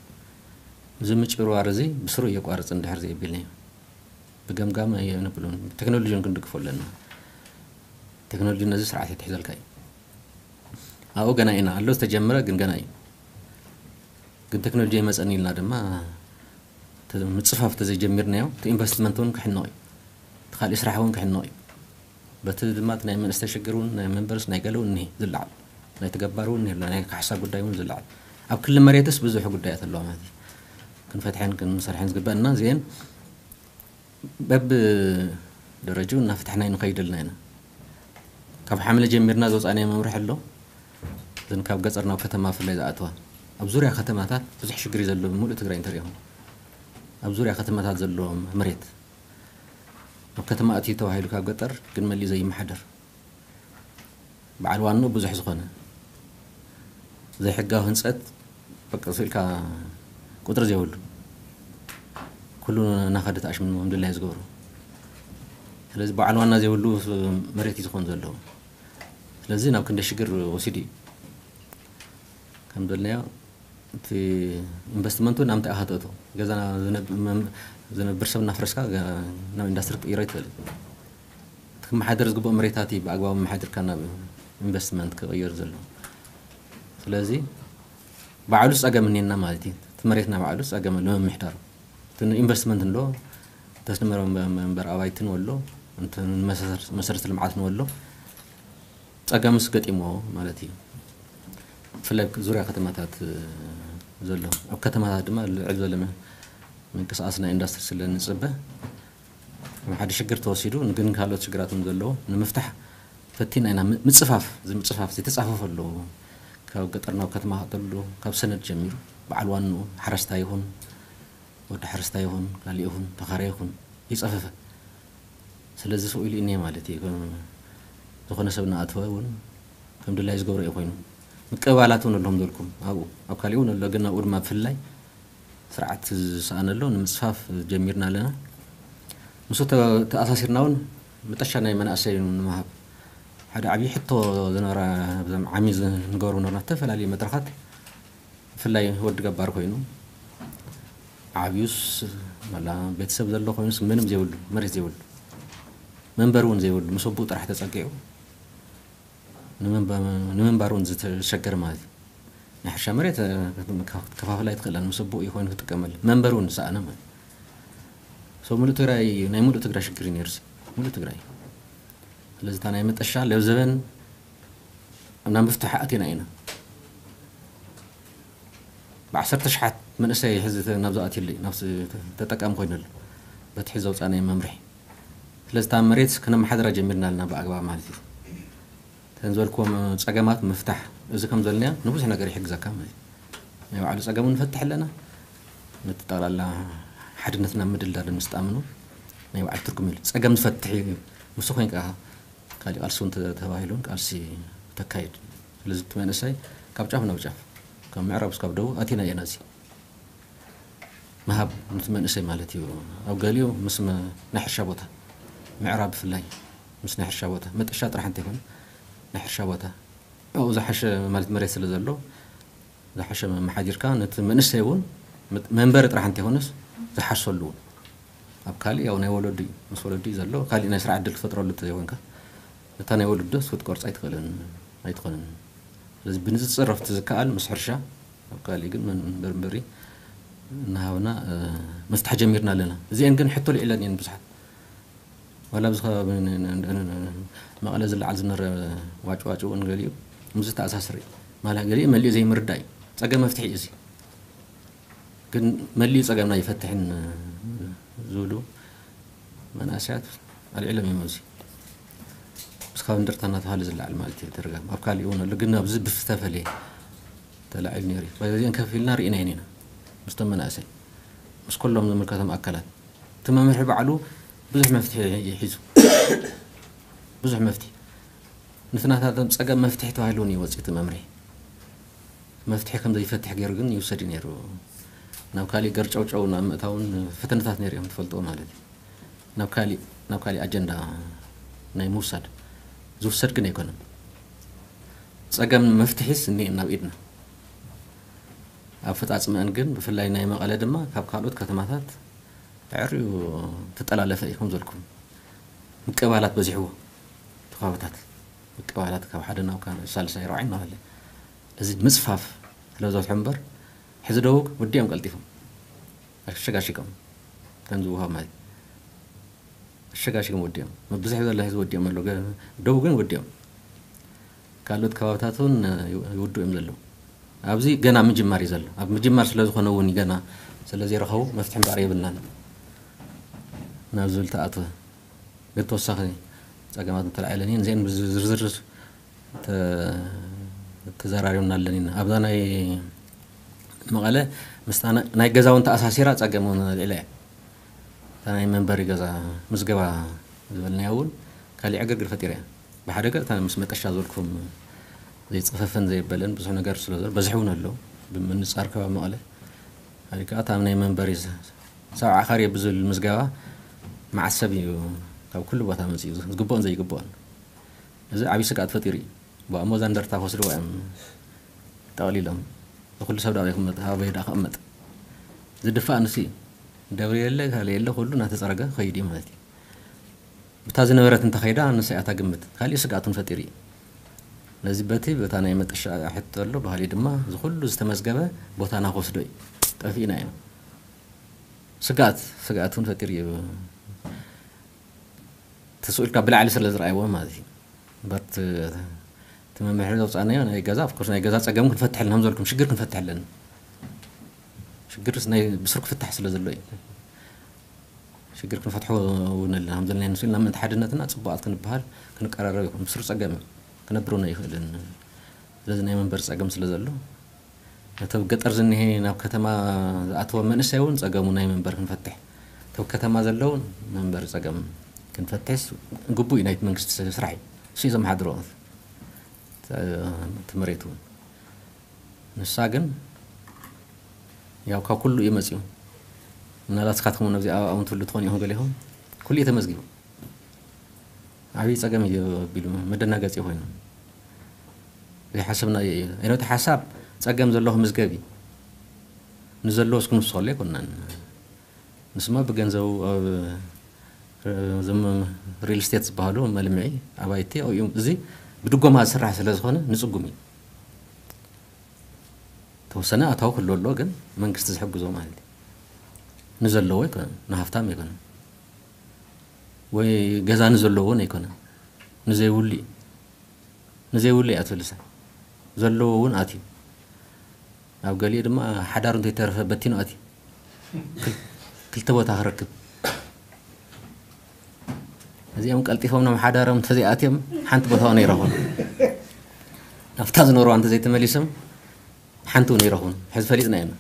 እዚ ምጭብርባር እዚ ብስሩ እየቋርፅ እንድሕር ዘየቢልናዮ ብገምጋም የንብሉን ብቴክኖሎጂ እውን ክንድግፎ ኣለና። ቴክኖሎጂ ነዚ ስርዓት የትሕዘልካ እዩ። ኣብኡ ገና ኢና ኣሎ ዝተጀመረ ግን ገና እዩ። ግን ቴክኖሎጂ ይመፀኒ ኢልና ድማ ምፅፋፍ ተዘይጀሚርናዮ እቲ ኢንቨስትመንት እውን ክሕነቕ እዩ። እቲ ካሊእ ስራሕ እውን ክሕነቕ እዩ። በቲ ድማ እቲ ናይ መንእሰይ ሽግር እውን ናይ መንበርስ ናይ ገለ እውን እኒሄ ዝለዓል ናይ ተገባር እውን እኒሄ ናይ ካሕሳ ጉዳይ እውን ዝለዓል ኣብ ክሊ መሬትስ ብዙሕ ጉዳያት ኣለዋ ማለት እዩ። ክንፈትሐን ክንሰርሐን ዝግበእና እዚአን በብ ደረጅኡ እናፈትሕና ንኸይድ ኣለና ኢና። ካብ ሓምለ ጀሚርና ዝወፃእናዮ መምርሒ ኣሎ። እዘን ካብ ገፀር ናብ ከተማ ብፍላይ ዝኣተዋ ኣብ ዙርያ ከተማታት ብዙሕ ሽግር እዩ ዘሎ። ብምሉእ ትግራይ እንተሪኢኹም ኣብ ዙርያ ከተማታት ዘሎ መሬት ኣብ ከተማ ኣትዩ ተባሂሉ ካብ ገጠር ግን መሊኡ ዘይመሓደር በዓል ዋንኡ ብዙሕ ዝኾነ ዘይሕጋዊ ህንፀት በቃ ስኢልካ ቁፅሪ ዘይብሉ ኩሉ እናኸደ ተኣሽሙ ከም ድላዩ ዝገብሩ። ስለዚ በዓል ዋና ዘይብሉ መሬት እዩ ዝኾን ዘለዎ። ስለዚ ናብ ክንደ ሽግር ወሲዱ እዩ ከም ዘልናዮ እቲ ኢንቨስትመንቱ ናብ ምንታይ ኢኻ ተእቶ ገዛና ዝነብ- መም- ዝነብር ሰብ እናፍረስካ ገ- ናብ ኢንዳስትሪ ክትቅይሮ ይትኽእል። እቲ ክመሓደር ዝግብኦ መሬታት እዩ ብኣግባቡ መሓድርካ ናብ ኢንቨስትመንት ክቕየር ዘሎ። ስለዚ ባዕሉ ፀገም እኒና ማለት እዩ። እቲ መሬትና ባዕሉ ፀገም ኣሎ ምምሕዳሩ። እቲ ኢንቨስትመንት እንዶ ተስንመረ መንበር ኣባይትን ወሎ መሰረተ ልምዓት ንወሎ ፀገምስ ገጢሞ ማለት እዩ። ብፍላይ ዙርያ ከተማታት ዘሎ ኣብ ከተማታት ድማ ልዕል ዝበለ ምንቅስቃስ ናይ ኢንዳስትሪ ስለ ንፅበ ሓደ ሽግር ተወሲዱ ግን ካልኦት ሽግራት እውን ዘለዎ ንምፍታሕ ፈቲና ኢና። ምፅፋፍ እዚ ምፅፋፍ ዝተፃፈፈ ኣለዎ። ካብ ገጠር ናብ ከተማ ክእተሉ ካብ ሰነድ ጀሚሩ በዓል ዋንኡ ሓረስታይ ይኹን ወዲ ሓረስታይ ይኹን ካሊእ ይኹን ተኻራይ ይኹን ይፀፈፈ። ስለዚ ስቕ ኢሉ እኒሀ ማለት እዩ። ከም ዝኾነ ሰብ እናኣተወ እውን ከም ድላይ ዝገብሮ እዩ ኮይኑ ምቅባላት እውን ኣለዎም ዘልኩም ኣብኡ ኣብ ካሊእ እውን ኣሎ ግን ኣብኡ ድማ ብፍላይ ስርዓት ዝሰኣነ ኣሎ ንምፅፋፍ ጀሚርና ኣለና። ምስ ተኣሳሲርና እውን መጠሻ ናይ መናእሰይ ንምሃብ ሓደ ዓብዪ ሕቶ ዝነበረ ኣብዞም ዓሚ ዝንገሩ ነበርና ዝተፈላለዩ መድረኻት፣ ብፍላይ ወዲ ገባር ኮይኑ ዓብዩስ፣ መላ ቤተሰብ ዘሎ ኮይኑስ፣ ምንም ዘይብሉ፣ መሬት ዘይብሉ፣ መንበሪ እውን ዘይብሉ፣ ምስ ኣቦኡ ጥራሕ ተፀጊዑ ንምንባ-፣ ንምንባር እውን ዝተሸገረ ማለት እዩ። ናይ ሕርሻ መሬት ክትከፋፍል ኣይትኽእለን፣ ምስ ኣቦኡ እዩ ኮይኑ ክጥቀመሉ፣ መንበሪ እውን ዝሰኣነ ማለት እዩ። ሰው ሙሉእ ትግራይ፣ ናይ ሙሉእ ትግራይ ሽግር እዩ ነይሩ፣ ሙሉእ ትግራይ። ስለዚ እታ ናይ መጠሻ ለብዘበን ናብ ምፍታሕ ኣቲና ኢና። ብዓሰርተ ሽሓት መንእሰይ ሕዚ ናብ ዝኣትየሉ እዩ፣ ናብ ተጠቃሚ ኮይነሉ፣ በቲ ሕዚ ዘውፃእናዮ መምርሒ። ስለዚ እታ መሬት ከነመሓድራ ጀሚርና ኣለና ብኣግባብ ማለት እዩ። እተን ዝበልክዎም ፀገማት ምፍታሕ፣ እዚ ከም ዘልናዮ ንብዙሕ ነገር ይሕግዘካ ማለት እዩ። ናይ ባዕሉ ፀገሙ ንፈትሕ ኣለና፣ ነቲ ጠቕላላ ሓድነትና ምድልዳል ምስጣምኑ ናይ ባዕሉ ትርጉም የሉ። ፀገም ዝፈትሕ እዩ፣ ምስ ኮይንካ ካሊእ ቃልሲ እውን ተባሂሉን ቃልሲ ተካይድ። ስለዚ እቲ መንእሰይ ካብ ጫፍ ናብ ጫፍ፣ ካብ ምዕራብ እስካብ ደቡብ ኣቲና እየና እዚ ምሃብ ነቲ መንእሰይ ማለት እዩ። ኣብ ገሊኡ ምስ መ-፣ ናይ ሕርሻ ቦታ፣ ምዕራብ ብፍላይ ምስ ናይ ሕርሻ ቦታ፣ መጠሻ ጥራሕ እንተይኮነ ናይ ሕርሻ ቦታ ኣብኡ ዝሓሸ ማለት መሬት ስለ ዘሎ፣ ዝሓሸ መመሓዲርካ ነቲ መንእሰይ እውን መ-፣ መንበሪ ጥራሕ እንተይኮነስ ዝሓርሰሉ እውን ኣብ ካሊእ ያው ናይ ወለዱ እዩ፣ ምስ ወለዱ እዩ ዘሎ። ካሊእ ናይ ስራሕ ዕድል ክትፈጥረሉ እንተዘይኮንካ፣ ነታ ናይ ወለዱ ክትቆርፃ ኣይትኽእልን፣ ኣይትኾንን። ስለዚ ብንፅፅር ኣብቲ ዝከኣል ምስ ሕርሻ፣ ኣብ ካሊእ ግን መን-፣ መንበሪ መንበሪ እናሃብና፣ እ፣ ምፍታሕ ጀሚርና ኣለና። እዚአን ግን ሕቶ ልዒለን እየን ብዙሓት። ዋላ ኣብዚ ከባቢ ን-፣ ን-፣ ን-፣ ን-፣ መቐለ ዝለዓል ዝነበረ ዋጭ ዋጭ እውን ገሊኡ ምስ ዝተኣሳስር እዩ። ማለት ገሊኡ መሊኡ ዘይምርዳእ እዩ። ፀገም መፍትሒ እዩ እዚ። ግን መሊኡ ፀገምና ይፈትሕን ዝብሉ መናእሰያት ኣልዒሎም እዮም። ኣብዚ ምስ ካብ እንደርታ እናተባሃለ ዝለዓል ማለት እዩ ተደጋጋሚ። ኣብ ካሊእ እውን ኣሎ፣ ግን ኣብዚ ብዝተፈለየ ተላዒሉ ነይሩ እዩ። በዚአን ከፍ ኢልና ርኢናየን ኢና ምስቶም መናእሰይ፣ ምስ ኩሎም ዝምልከቶም ኣካላት። እቲ መምርሒ ባዕሉ ብዙሕ መፍትሒ እዩ ሒዙ፣ ብዙሕ መፍትሒ። ነቲ ናታቶም ፀገም መፍትሒ ተባሂሉ እውን እዩ ወፂኡ እቲ መምርሒ። መፍትሒ ከም ዘይፈትሕ ገይሩ ግን ይውሰድ እዩ ነይሩ። ናብ ካሊእ ገርጨውጨው ናብ ምእታውን ፈተነታት ነይሩ እዮም፣ ትፈልጥዎ ማለት እዩ። ናብ ካሊእ፣ ናብ ካሊእ ኣጀንዳ ናይ ምውሳድ ዝውሰድ ግን ኣይኮነን። ፀገም መፍትሒስ እኒኤን ናብ ኢድና። ኣፈፃፅመአን ግን ብፍላይ ናይ መቐለ ድማ ካብ ካልኦት ከተማታት ኣዕርዩ ተጠላለፈ እዩ። ከም ዘልኩም ምቅባላት በዚሕዎ፣ እቲ ከባብታት ምቅባላት ካብ ሓደ ናብ ካልእ ሳልሳይ ራብዓይ እናበለ እዚ ምፅፋፍ ስለ ዝበዝሖ እምበር፣ ሕዚ ደቡብ ወዲኦም ቀልጢፎም ኣሸጋሺጎም ከም ዝውሃብ ማለት ኣሸጋሺጎም ወዲኦም፣ ብዙሕ ዘሎ ህዝቢ ወዲኦም ኣሎ። ገ-፣ ደቡብ ግን ወዲኦም፣ ካልኦት ከባብታት እውን ይውድኡ እዮም ዘለዉ። ኣብዚ ገና ምጅማር እዩ ዘሎ። ኣብ ምጅማር ስለ ዝኾነ እውን ገና ስለ ዘይረኸቡ መፍትሒ እምበኣር የብልናን ናብ ዝብል ተኣትወ። ግን ተወሳኺ ፀገማት እንተለዓለን እየን፣ እዚአን ብዝርዝር ተ-፣ ተዘራሪብና ኣለና ኢና። ኣብዛ ናይ መቐለ ምስታ ናይ፣ ናይ ገዛ እውን ተኣሳሲራ ፀገም እውን ኣልዒላ እያ። እታ ናይ መንበሪ ገዛ ምዝገባ ዝበልናያ እውን ካሊእ ዕግርግር ፈጢራ እያ። ብሓደ ገፅ እታ ምስ መጠሻ ዝበልኩም ዘይፀፈፈን ዘየበለን ብዙሕ ነገር ስለ ዘሎ በዝሒ እውን ኣሎ። ብምንፃር ከባቢ መቐለ፣ ካሊእ ከዓ እታ ናይ መንበሪ ሰብዓ ካሬ ብዝብል ምዝገባ መዓት ሰብ እዩ ካብ ኩሉ ቦታ መፂኡ ዝግብኦን ዘይግብኦን። እዚ ዓብዪ ስግኣት ፈጢሩ እዩ። ብኣሞዛ እንደርታ ክወስድዋ እዮም ጠቕሊሎም። ንኩሉ ሰብ ዳኣ ይቕመጥ፣ ኣበይ ዳኣ ክቕመጥ? ዝድፋእ ንሱ እዩ። ደብሪ የለ፣ ካልእ የለ፣ ኩሉ እናተፀረገ ክኸይድ እዩ ማለት እዩ። ብታ ዝነበረት እንተኸይዳ ንሳ እያ እታ ግምት። ካሊእ ስግኣት እውን ፈጢሩ እዩ። ነዚ በቲ በታ ናይ መጠሻ ሕቶ ኣሎ፣ ባህሊ ድማ እዚ ኩሉ ዝተመዝገበ ቦታና ክወስዶ እዩ። ጠፊእና ኢና። ስግኣት፣ ስግኣት እውን ፈጢሩ እዩ። ተስኡ ኢልካ ብላዕሊ ስለ ዝረኣይዎ ማለት እዩ። እምበር እቲ፣ እቲ መምርሒ ዘውፃእናዮ ናይ ገዛ፣ of course ናይ ገዛ ፀገም ክንፈትሕ ኣለና፣ ከም ዝበልኩም ሽግር ክንፈትሕ ኣለና። ሽግርስ ናይ ብስሩ ክፍታሕ ስለ ዘሎ እዩ። ሽግር ክንፈትሖ እውን ኣለና፣ ከም ዘለና ንስኢልና ምእንቲ ሓድነትና ፅቡቓት ክንበሃል ክንቀራረብ ይኹን ብስሩ ፀገም እዩ፣ ክነብረና ኣይኽእልን። ስለዚ ናይ መንበሪ ፀገም ስለ ዘሎ፣ ነቲ ኣብ ገጠር ዝኒሀ ናብ ከተማ ዝኣተወ መንእሰይ እውን ፀገሙ ናይ መንበሪ ክንፈትሕ፣ እቲ ኣብ ከተማ ዘለውን መንበሪ ፀገም ክንፈትሕስ ግቡእ እዩ፣ ናይቲ መንግስቲ ስራሕ እዩ። እሱ እዩ ዘመሓድሮ እቲ መሬት እውን። ንሳ ግን ያው ካብ ኩሉ እዩ መፂኡ። ምናልባት እስካትኩም እውን ኣብዚ ኣባኣ እውን ትህሉ ትኾኑ ኢኹም ገሊኹም። ኩሉ እዩ ተመዝጊቡ። ዓብዪ ጸገም እዩ ኣቢሉ መደናገጺ ኮይኑ ዘይሓሰብናዮ እዩ። እቲ ሓሳብ ጸገም ዘለዎ ክምዝገብ እዩ። ንዘለዎ እስኪ ንውስኸሉ ኣይኮናን። ንስማ ብገንዘቡ ኣብ እዞም ሪል ስቴት ዝበሃሉ መልምዒ ኣባይቲ ኣብኡ እዚ ብድጎማ ዝስራሕ ስለ ዝኾነ ንጽጉም እዩ። ተወሰነ ኣታዊ ክህሉ ኣሎ፣ ግን መንግስቲ ዝሕግዞ ማለት እዩ። ንዘለዎ ኣይኮነን፣ ንሃፍታም ኣይኮነን፣ ወይ ገዛ ንዘለዎ እውን ኣይኮነን፣ ንዘይብሉ እዩ። ንዘይብሉ እያ ትብልሳ። ዘለዎ እውን ኣትዩ፣ ኣብ ገሊኡ ድማ ሓዳሩ እንተይተረፈ በቲኑ ኣትዩ። ክል- ክልተ ቦታ ክረክብ። እዚኦም ቀልጢፎም ናብ ሓዳሮም እንተዘይኣትዮም ሓንቲ ቦታ እውን ኣይረኹን። ናብታ ዝነበርዋ እንተዘይተመሊሶም ሓንቲ እውን ኣይረኹን። ሕዚ ፈሊጥና ኢና።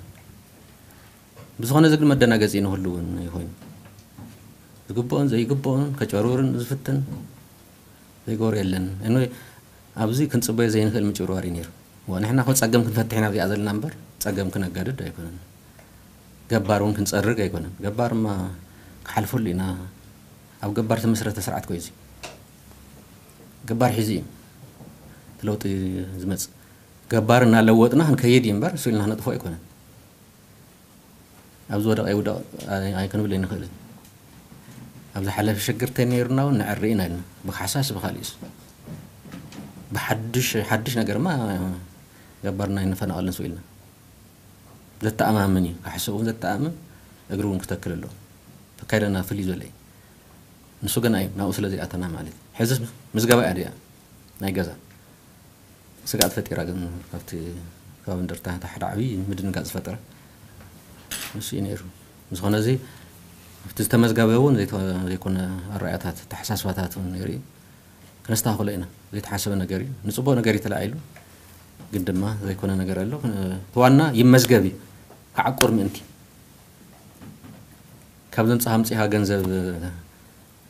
ብዝኾነ እዚ ግን መደናገጺ ንኹሉ እውን ይኾይኑ። ዝግብኦን ዘይግብኦን ከጨርብርን ዝፍትን ዘይገብሮ የለን። እነ ኣብዚ ክንጽበዮ ዘይንኽእል ምጭብርባር እዩ ነይሩ። ዋ፣ ንሕና እኮ ጸገም ክንፈትሕ ኢና ኣብዚኣ ዘለና እምበር ጸገም ክነጋድድ ኣይኮነን። ገባር እውን ክንጸርግ ኣይኮነን። ገባርማ ክሓልፈሉ ኢና። ኣብ ገባር ተመስረተ ስርዓት ኮዩ እዚ። ገባር ሒዙ እዩ እቲ ለውጢ ዝመጽእ። ገባር እናለወጥና ክንከይድ እዩ እምበር እሱ ኢልና ክነጥፎ ኣይኮነን። ኣብ ዝወደቐ ይውደቕ ኣይ- ኣይክንብል ኣይንኽእልን። ኣብ ዝሓለፈ ሽግር ተነይሩና እውን ንዕሪ ኢና ኢልና። ብካሕሳስ ብካሊእስ። ብሓድሽ ሓድሽ ነገርማ ገባርና ኣይንፈናቐልን ስው ኢልና። ዘተኣማምን እዩ። ክሓስብ እውን ዘተኣምን እግሪ እውን ክተክል ኣለዎ። ተካይደና ፍልይ ዝበለ እዩ። ንሱ ግን ኣይ ናብኡ ስለ ዘይኣተና ማለት እዩ። ሕዚ ምዝገባ እያ ድያ ናይ ገዛ ስግኣት ፈጢራ ግን ካብቲ ከባቢ እንደርታ እቲ ሓደ ዓብዪ ምድንጋጽ ዝፈጠረ ንሱ እዩ ነይሩ። ብዝኾነ እዚ ኣብቲ ዝተመዝገበ እውን ዘይተ- ዘይኮነ ኣረኣእያታት፣ ኣተሓሳስባታት እውን ነይሩ እዩ። ክነስተኻኽሎ ኢና። ዘይተሓሰበ ነገር እዩ። ንጽቡቕ ነገር እዩ ተላዒሉ፣ ግን ድማ ዘይኮነ ነገር ኣሎ። እቲ ዋና ይመዝገብ እዩ፣ ክዓቁር ምእንቲ። ካብ ዘምጽኻ ኣምጺኻ ገንዘብ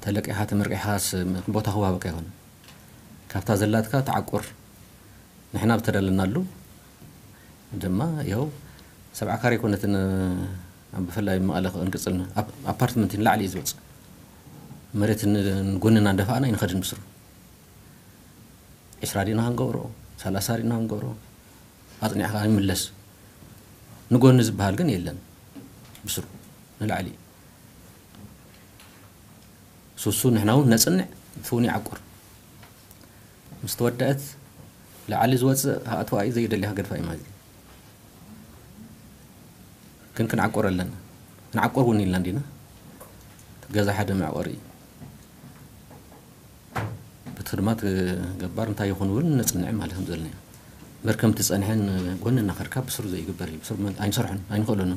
ተለቂኻ ተመርቂኻስ ቦታ ክወሃበካ ይኾን? ካብታ ዘላትካ ተዓቁር። ንሕና ብተደለናሉ ድማ ይኸው ሰብዓ ካሬ ኮነትን ኣብ ብፍላይ መቐለ ክንቅጽል ኣፓርትመንት ንላዕሊ እዩ ዝወጽእ። መሬት ንጎንና እንደፋእና ይንኸድን ብስሩ። ዒስራ ዲና ክንገብሮ፣ ሰላሳ ዲና ክንገብሮ፣ ኣጽኒዕካ ይምለስ። ንጎኒ ዝበሃል ግን የለን። ብስሩ ንላዕሊ እዩ። ሱሱ ንሕና እውን ነጽንዕ፣ እቲ እውን ይዓቁር። ምስ ተወደአት ላዕሊ ዝወጽእ ኣእትዋ እዩ፣ ዘይደልያ ገድፋ እዩ ማለት እዩ። ግን ክንዓቁር ኣለና። ክንዓቁር እውን ኢልና እንዲና። ገዛ ሓደ መዕቆሪ እዩ። ብቲ ድማ ገባር እንታይ ይኹን እውን ነጽንዕ ማለት ከም ዘለና እዩ። መርከም ትጸንሐን ጎኒ እናኸድካ ብስሩ ዘይግበር እዩ። ብስሩ መን- ኣይንሰርሖን፣ ኣይንኽእሎን።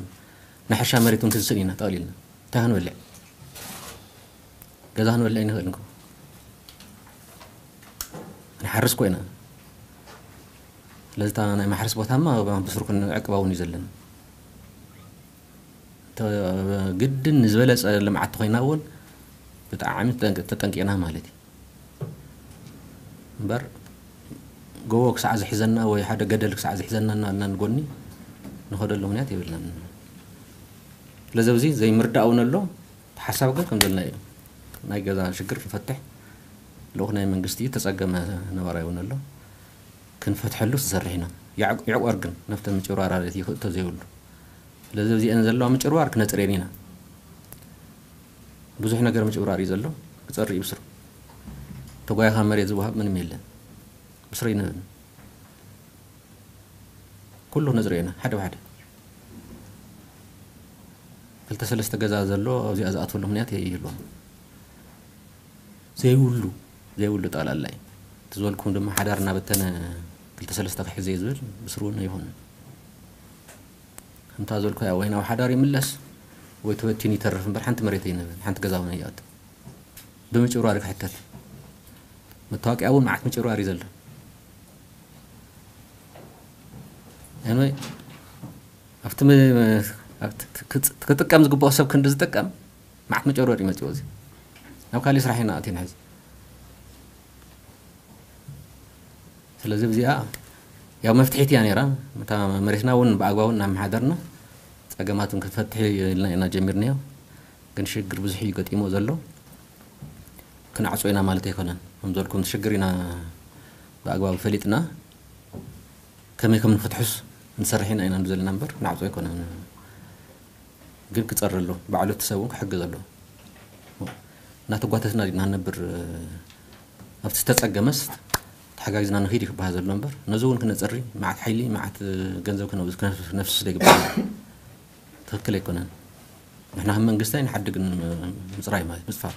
ናይ ሕርሻ መሬት እውን ክንስእን ኢና ጠቕሊልና። እንታይ ክንበልዕ? ገዛ ክንበልዕ ኣይንኽእልን እኮ። ንሓርስ ኮይና። ስለዚ እታ ናይ ማሕረስ ቦታማ ብስሩ ክንዕቅባ እውን እዩ ዘለና። ተ- ግድን ንዝበለጸ ልምዓት ተኾይና እውን ብጣዕሚ ተጠንቅ- ተጠንቂቕና ማለት እዩ። እምበር ጎቦ ክሳዕ ዝሕዘና ወይ ሓደ ገደል ክሳዕ ዝሕዘና እናልና ንጎኒ ንኸደሉ ምክንያት የብልናን። ስለዚ ኣብዚ ዘይምርዳእ እውን ኣሎ። እቲ ሓሳብ ግን ከም ዘለና እዩ። ናይ ገዛ ሽግር ንፈትሕ ልኡኽ ናይ መንግስቲ እዩ፣ ተጸገመ ነባራይ እውን ኣሎ። ክንፈትሐሉ ትሰርሕ ኢና። ይዕቆር ግን ነፍተ ምጭራራለት ይኽእቶ ዘይብሉ። ስለዚ ኣብዚአን ዘለዋ ምጭርባር ክነጽርየን ኢና። ብዙሕ ነገር ምጭብራር እዩ ዘሎ፣ ክጸሪ እዩ ብስሩ። ተጓይኻ መሬት ዝወሃብ ምንም የለን። ብስሩ ይንብን ኩሉ ነጽርዮ ኢና ሓደ ብሓደ። ክልተ ሰለስተ ገዛ ዘሎ ኣብዚኣ ዝኣትወሉ ምክንያት ይህልዎም። ዘይብሉ ዘይብሉ ጠቕላላ እዩ። እቲ ዝበልኩም ድማ ሓዳር እናበተነ ክልተ ሰለስተ ክሕዝ እየ ዝብል ብስሩ እውን ኣይኾንን። ከምታ ዝበልኩ ወይ ናብ ሓዳር ይምለስ ወይ ተበቲኑ ይተርፍ እምበር ሓንቲ መሬት ኣይንህብን፣ ሓንቲ ገዛ እውን ኣይኣቱ። ብምጭብራር ክሕተት። መታወቂያ እውን መዓት ምጭብራር እዩ ዘሎ። Anyway፣ ኣብቲ ም- ኣብቲ ክጽ- ክጥቀም ዝግብኦ ሰብ ክንዲ ዝጥቀም መዓት መጨረር ይመጽኦ። እዚ ናብ ካሊእ ስራሕ ኢና ኣቲና ሕዚ። ስለዚ እዚኣ ያው መፍትሒት እያ ነይራ። እታ መሬትና እውን ብኣግባቡ እናመሓደርና ጸገማትን ክንፈትሕ ኢልና ኢና ጀሚርናዮ። ግን ሽግር ብዙሕ እዩ ገጢሞ ዘሎ። ክንዓጾ ኢና ማለት ኣይኮነን። ከም ዝበልኩም ሽግር ኢና ብኣግባቡ ፈሊጥና ከመይ ከም ንፍትሑስ ንሰርሕ ኢና ኢና ዘለና እምበር ንዓጾ ኣይኮነን። ግን ክጸሪ ኣሎ፣ ባዕሉ እቲ ሰብ እውን ክሕግዝ ኣሎ። እናተጓተትና ዲና ንነብር? ኣብቲ ዝተጸገመስ ተሓጋጊዝና ንኺድ እዩ ክበሃል ዘሎ እምበር ነዚ እውን ክነጽሪ መዓት ሓይሊ መዓት ገንዘብ ክነፍስስ ዘይግባእ ትኽክል ኣይኮነን። ንሕና ከም መንግስቲ ኣይንሓድግን ምጽራይ ማለት ምጽፋር።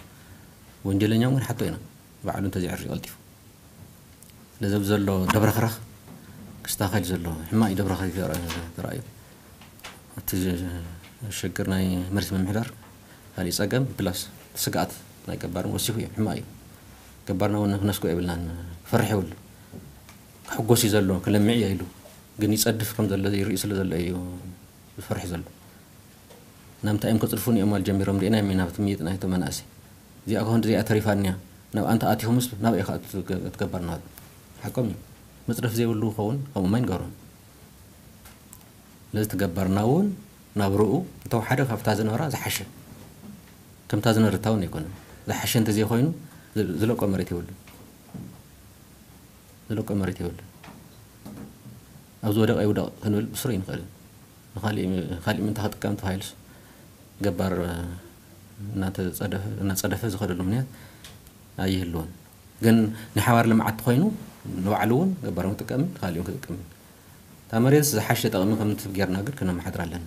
ወንጀለኛ እውን ሓቶ ኢና ባዕሉ እንተዘይዕሪ ቀልጢፉ። ስለዚ ኣብዚ ዘሎ ደብረኽረኽ ክስተኻኸል ዘሎ ሕማቕ እዩ። ደብረኽረኽ ተራእዩ እቲ ሽግር ናይ መሬት ምምሕዳር ካሊእ ጸገም ፕላስ ስግኣት ናይ ገባርን ወሲኹ እዩ። ሕማቕ እዩ። ገባርና እውን ክነስጎ የብልናን። ክፈርሕ የብሉ። ክሕጎስ እዩ ዘሎ፣ ክለምዕ እየ ኢሉ ግን ይጸድፍ ከም ዘሎ ይርኢ ስለ ዘሎ እዩ ዝፈርሕ ዘሎ። ናምንታይ እዮም ከጽድፉ ንኦም ኣል ጀሚሮም ርኢና ኢና ብቲ ምይጥ ናይቶ መናእሰይ። እዚኣ ከሆን እዚኣ ተሪፋንያ ናብ ኣንተ ኣቲኹምስ ናብ ኢኻ ትገባርና? ሓቆም እዩ። መጽደፍ ዘይብሉ ክኸውን ከምኡ ማይ ንገሮም። ስለዚ ትገባርና እውን ናብ ርኡ እንተወሓደ ካብታ ዝነበራ ዝሓሸ ከምታ ዝነበረታ እውን ኣይኮነን። ዝሓሸ እንተዘይኮይኑ ዝለቆ መሬት የብሉ። ዝለቆ መሬት የብሉ። ኣብዚ ወደቕ ኣይውደቕ ክንብል ብስሩ ይንኽእል። ንኻሊእ ምንታ ክጥቀም ተባሂሉስ ገባር እናጸደፈ ዝኸደሉ ምክንያት ኣይህልዎን። ግን ናይ ሓባር ልምዓት ተኾይኑ ንባዕሉ እውን ገባር ክጥቀምን ንኻሊእ ክጥቀምን እታ መሬት ዝሓሸ ጠቕሚ ከም ትብ ጌርና ግን ክነመሓድር ኣለና።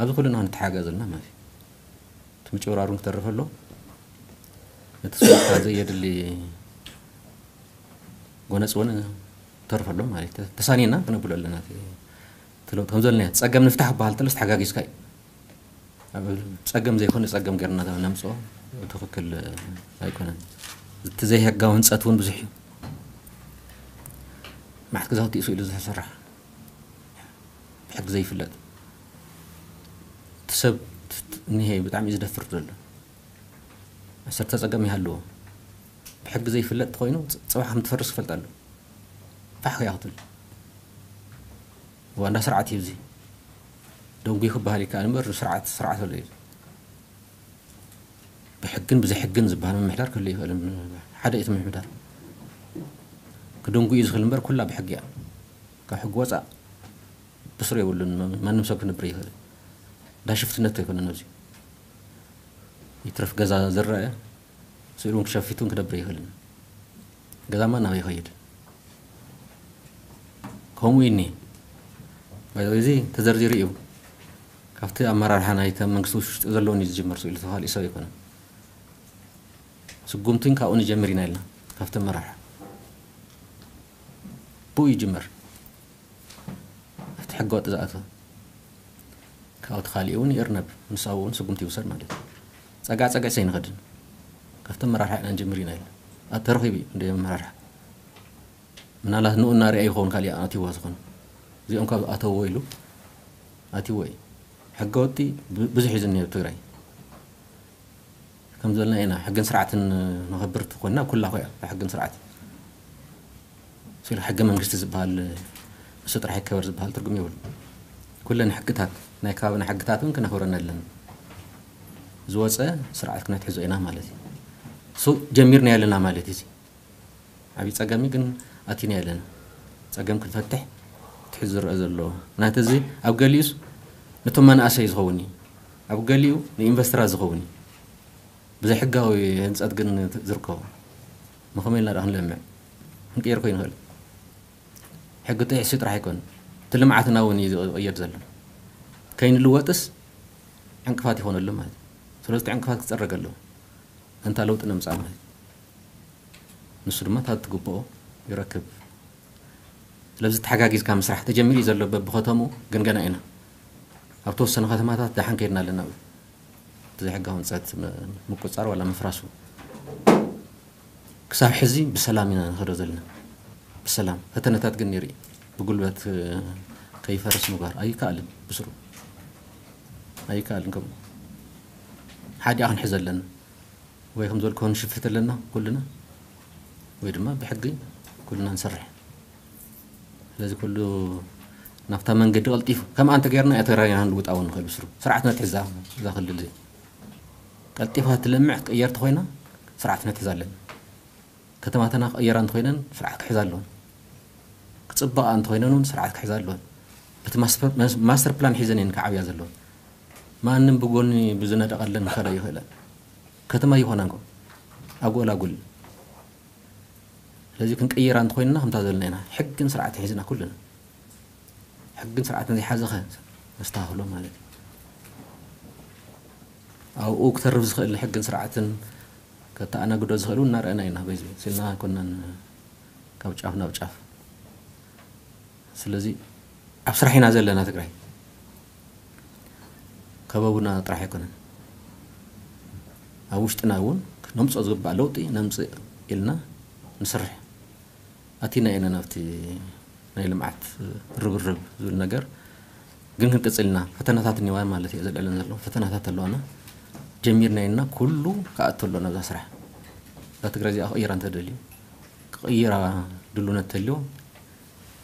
ኣብዚ ኩልና ክንተሓጋገዝ ኣለና ማለት እዩ። እቲ ምጭብራሩን ክተርፍ ኣሎ። እቲ ስርዓት ዘየድሊ ጎነጽ እውን ተርፍ ኣሎ ማለት እዩ። ተሳኒና ክነብሎ ኣለና። እቲ ለውጥ ከም ዘለና ጸገም ንፍታሕ ክበሃል ተለስ ተሓጋጊዝካ እዩ። ኣብ ጸገም ዘይኮነ ጸገም ጌርና ነምጽኦ ትኽክል ኣይኮነን። እቲ ዘይሕጋዊ ህንጸት እውን ብዙሕ እዩ። ማዕት ገዛውቲ እሱ ኢሉ ዝተሰራሕ ብሕጊ ዘይፍለጥ እቲ ሰብ እኒሄ ብጣዕሚ እዩ ዝደፍር ዘሎ። ዓሰርተ ጸገም ይሃልዎ ብሕጊ ዘይፍለጥ ተኮይኑ ጽባሕ ከም ትፈርስ ክፈልጥ ኣሎ። ፋሕ ከያ ክትብል ዋንዳ ስርዓት እዩ እዚ። ደንጉ ክበሃል ይከኣል እምበር ስርዓት ስርዓት ኣሎ እዩ። ብሕግን ብዘይሕግን ዝበሃል ምምሕዳር ክህሉ ይኽእል። ሓደ እቲ ምምሕዳር ክደንጉ እዩ ዝኽእል እምበር ኩላ ብሕጊ እያ። ካብ ሕጊ ወፃእ ብስሩ የብሉን። ማንም ሰብ ክነብር ይኽእል። ዳሽፍትነት ኣይኮነን ኣብዚ። ይትረፍ ገዛ ዝረአ ስኢሉ እውን ክሸፊት እውን ክነብር ይኽእልን። ገዛማ ናበይ ይኸይድ? ከምኡ እዩ እኒ እዚ ተዘርዚሩ እዩ። ካብቲ ኣመራርሓ ናይተ መንግስቲ ውሽጢ ዘለውን እዩ ዝጅመር ስኢሉ ተኻሊእ ሰብ ኣይኮነን። ስጉምትን ካብኡ ንጀምር ኢና ኢልና ካብቲ ኣመራርሓ ብኡ ይጅመር። ኣብቲ ሕገ ወጥ ዝኣተወ ካብኡ ተኻሊኡ እውን ይእርነብ። ምስ ኣብኡ እውን ስጉምቲ ይውሰድ ማለት እዩ። ጸጋ ጸጋ ሰይንኸድን ካብቲ ኣመራርሓ ኢና ንጅምር ኢና ኢልና ተረኺቡ እዩ እንደ ኣመራርሓ ምናልባት ንኡ እናርኣ ይኸውን ካሊእ ኣትዋ ዝኾነ እዚኦም ካብ ኣተዎ ኢሉ ኣትዎ እዩ። ሕገ ወጢ ብዙሕ እዩ ዝኒሄ ኣብ ትግራይ። ከም ዝበልና ኢና ሕግን ስርዓትን ነኸብር ተኮንና ኩላ ኮያ ሕግን ስርዓት ስለ ሕገ መንግስቲ ዝበሃል ንሱ ጥራሕ ይከበር ዝበሃል ትርጉም የብሉ። ኩለን ሕግታት ናይ ከባብና ሕግታት እውን ክነኽብረን ኣለና። ዝወፀ ስርዓት ክነትሕዞ ኢና ማለት እዩ። ሱ ጀሚርና ኣለና ማለት እዩ። ዓብዪ ጸገም ግን ኣቲና ኣለና። ጸገም ክንፈትሕ ትሕዚ ዝረአ ዘሎ ናተ እዚ ኣብ ገሊኡስ ነቶም መናእሰይ ዝኸውን እዩ። ኣብ ገሊኡ ንኢንቨስተራት ዝኸውን እዩ። ብዘይሕጋዊ ህንጸት ግን ዝርከቡ መኸመ ኢልና ዳ ክንለምዕ ክንቅየር ኮይኑ ይኽእል። ሕጊ ጥሒሱ ጥራሕ ኣይኮን እቲ ልምዓትና እውን እዩ ዝቕየድ ዘሎ። ከይንልወጥስ ዕንቅፋት ይኾነሉ ማለት እዩ። ስለዚ ዕንቅፋት ክጸረግ ኣለዎ። እንታ ለውጢ ነምጻእ ማለት እዩ። ንሱ ድማ እታ ትግብኦ ይረክብ። ስለዚ ተሓጋጊዝካ ምስራሕ ተጀሚሩ እዩ ዘሎ በብኸተምኡ ግን ገና ኢና ኣብ ተወሰነ ከተማታት ደሓን ከይድና ኣለና። ብዘይሕጋዊ ህንፀት ምቁፃር ዋላ ምፍራሱ ክሳብ ሕዚ ብሰላም ኢና ንኸዶ ዘለና። ብሰላም ፈተነታት ግን ነይሩ እዩ። ብጉልበት ከይፈርስ ምግባር ኣይከኣልን። ብስሩ ኣይከኣልን። ከምኡ ሓዲኣ ክንሕዘ ኣለና። ወይ ከም ዝበልኩ ንሽፍት ኣለና ኩልና ወይ ድማ ብሕጊ ኩልና ንሰርሕ። ስለዚ ኩሉ ናብታ መንገዲ ቀልጢፉ ከም ኣንተ ጌርና እያ ተራይና ንልውጣ እውን ንኽእል ብስሩ ስርዓት ነትሕዛ እዛ ክልል እዚ ቀልጢፋ ትለምዕ ክትቅየር ተኮይና ስርዓት ክንሕዝ ኣለና። ከተማታትና ክቕየራ እንተኾይነን ስርዓት ክሕዛ ኣለወን። ክፅበቓ እንተኾይነን እውን ስርዓት ክሕዛ ኣለወን። በቲ ማስተር ፕላን ሒዘን እየን ክዓብያ ዘለወን። ማንም ብጎኒ ብዝነደቐለን ክኸዳ ይኽእለን። ከተማ ይኾና እንኮ ኣጎላጉል። ስለዚ ክንቀይራ እንተኾይንና ከምታ ዘለና ኢና። ሕግን ስርዓትን ሒዝና ኩልና ሕግን ስርዓትን ዘይሓዘኸ ነስተኻኽሎ ማለት እዩ። ኣብኡ ክተርፍ ዝኽእል ሕግን ስርዓትን ከተኣናግዶ ዝኽእል እውን እናረኣና ኢና። በዚ ስልና ኮናን ካብ ጫፍ ናብ ጫፍ። ስለዚ ኣብ ስራሕ ኢና ዘለና። ትግራይ ከበቡና ጥራሕ ኣይኮነን፣ ኣብ ውሽጥና እውን ነምፅኦ ዝግባእ ለውጢ ነምፅእ ኢልና ንስርሕ። ኣቲና ኢና ናብቲ ናይ ልምዓት ርብርብ ዝብል ነገር ግን ክንቅፅል ኢና። ፈተናታት እኒዋ ማለት እዩ ዘልዕለን ዘሎ ፈተናታት ኣለዋና። ጀሚርና ኢና፣ ኩሉ ክኣቱ ኣሎ ናብዛ ስራሕ። እዛ ትግራይ እዚኣ ክቕይራ እንተደልዩ፣ ክቕይራ ድሉነት ተልዮ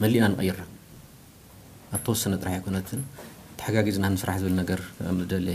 መሊእና ንቐይራ። ኣብ ተወሰነ ጥራሕ ኣይኮነትን፣ ተሓጋጊዝና ንስራሕ ዝብል ነገር ምደለ።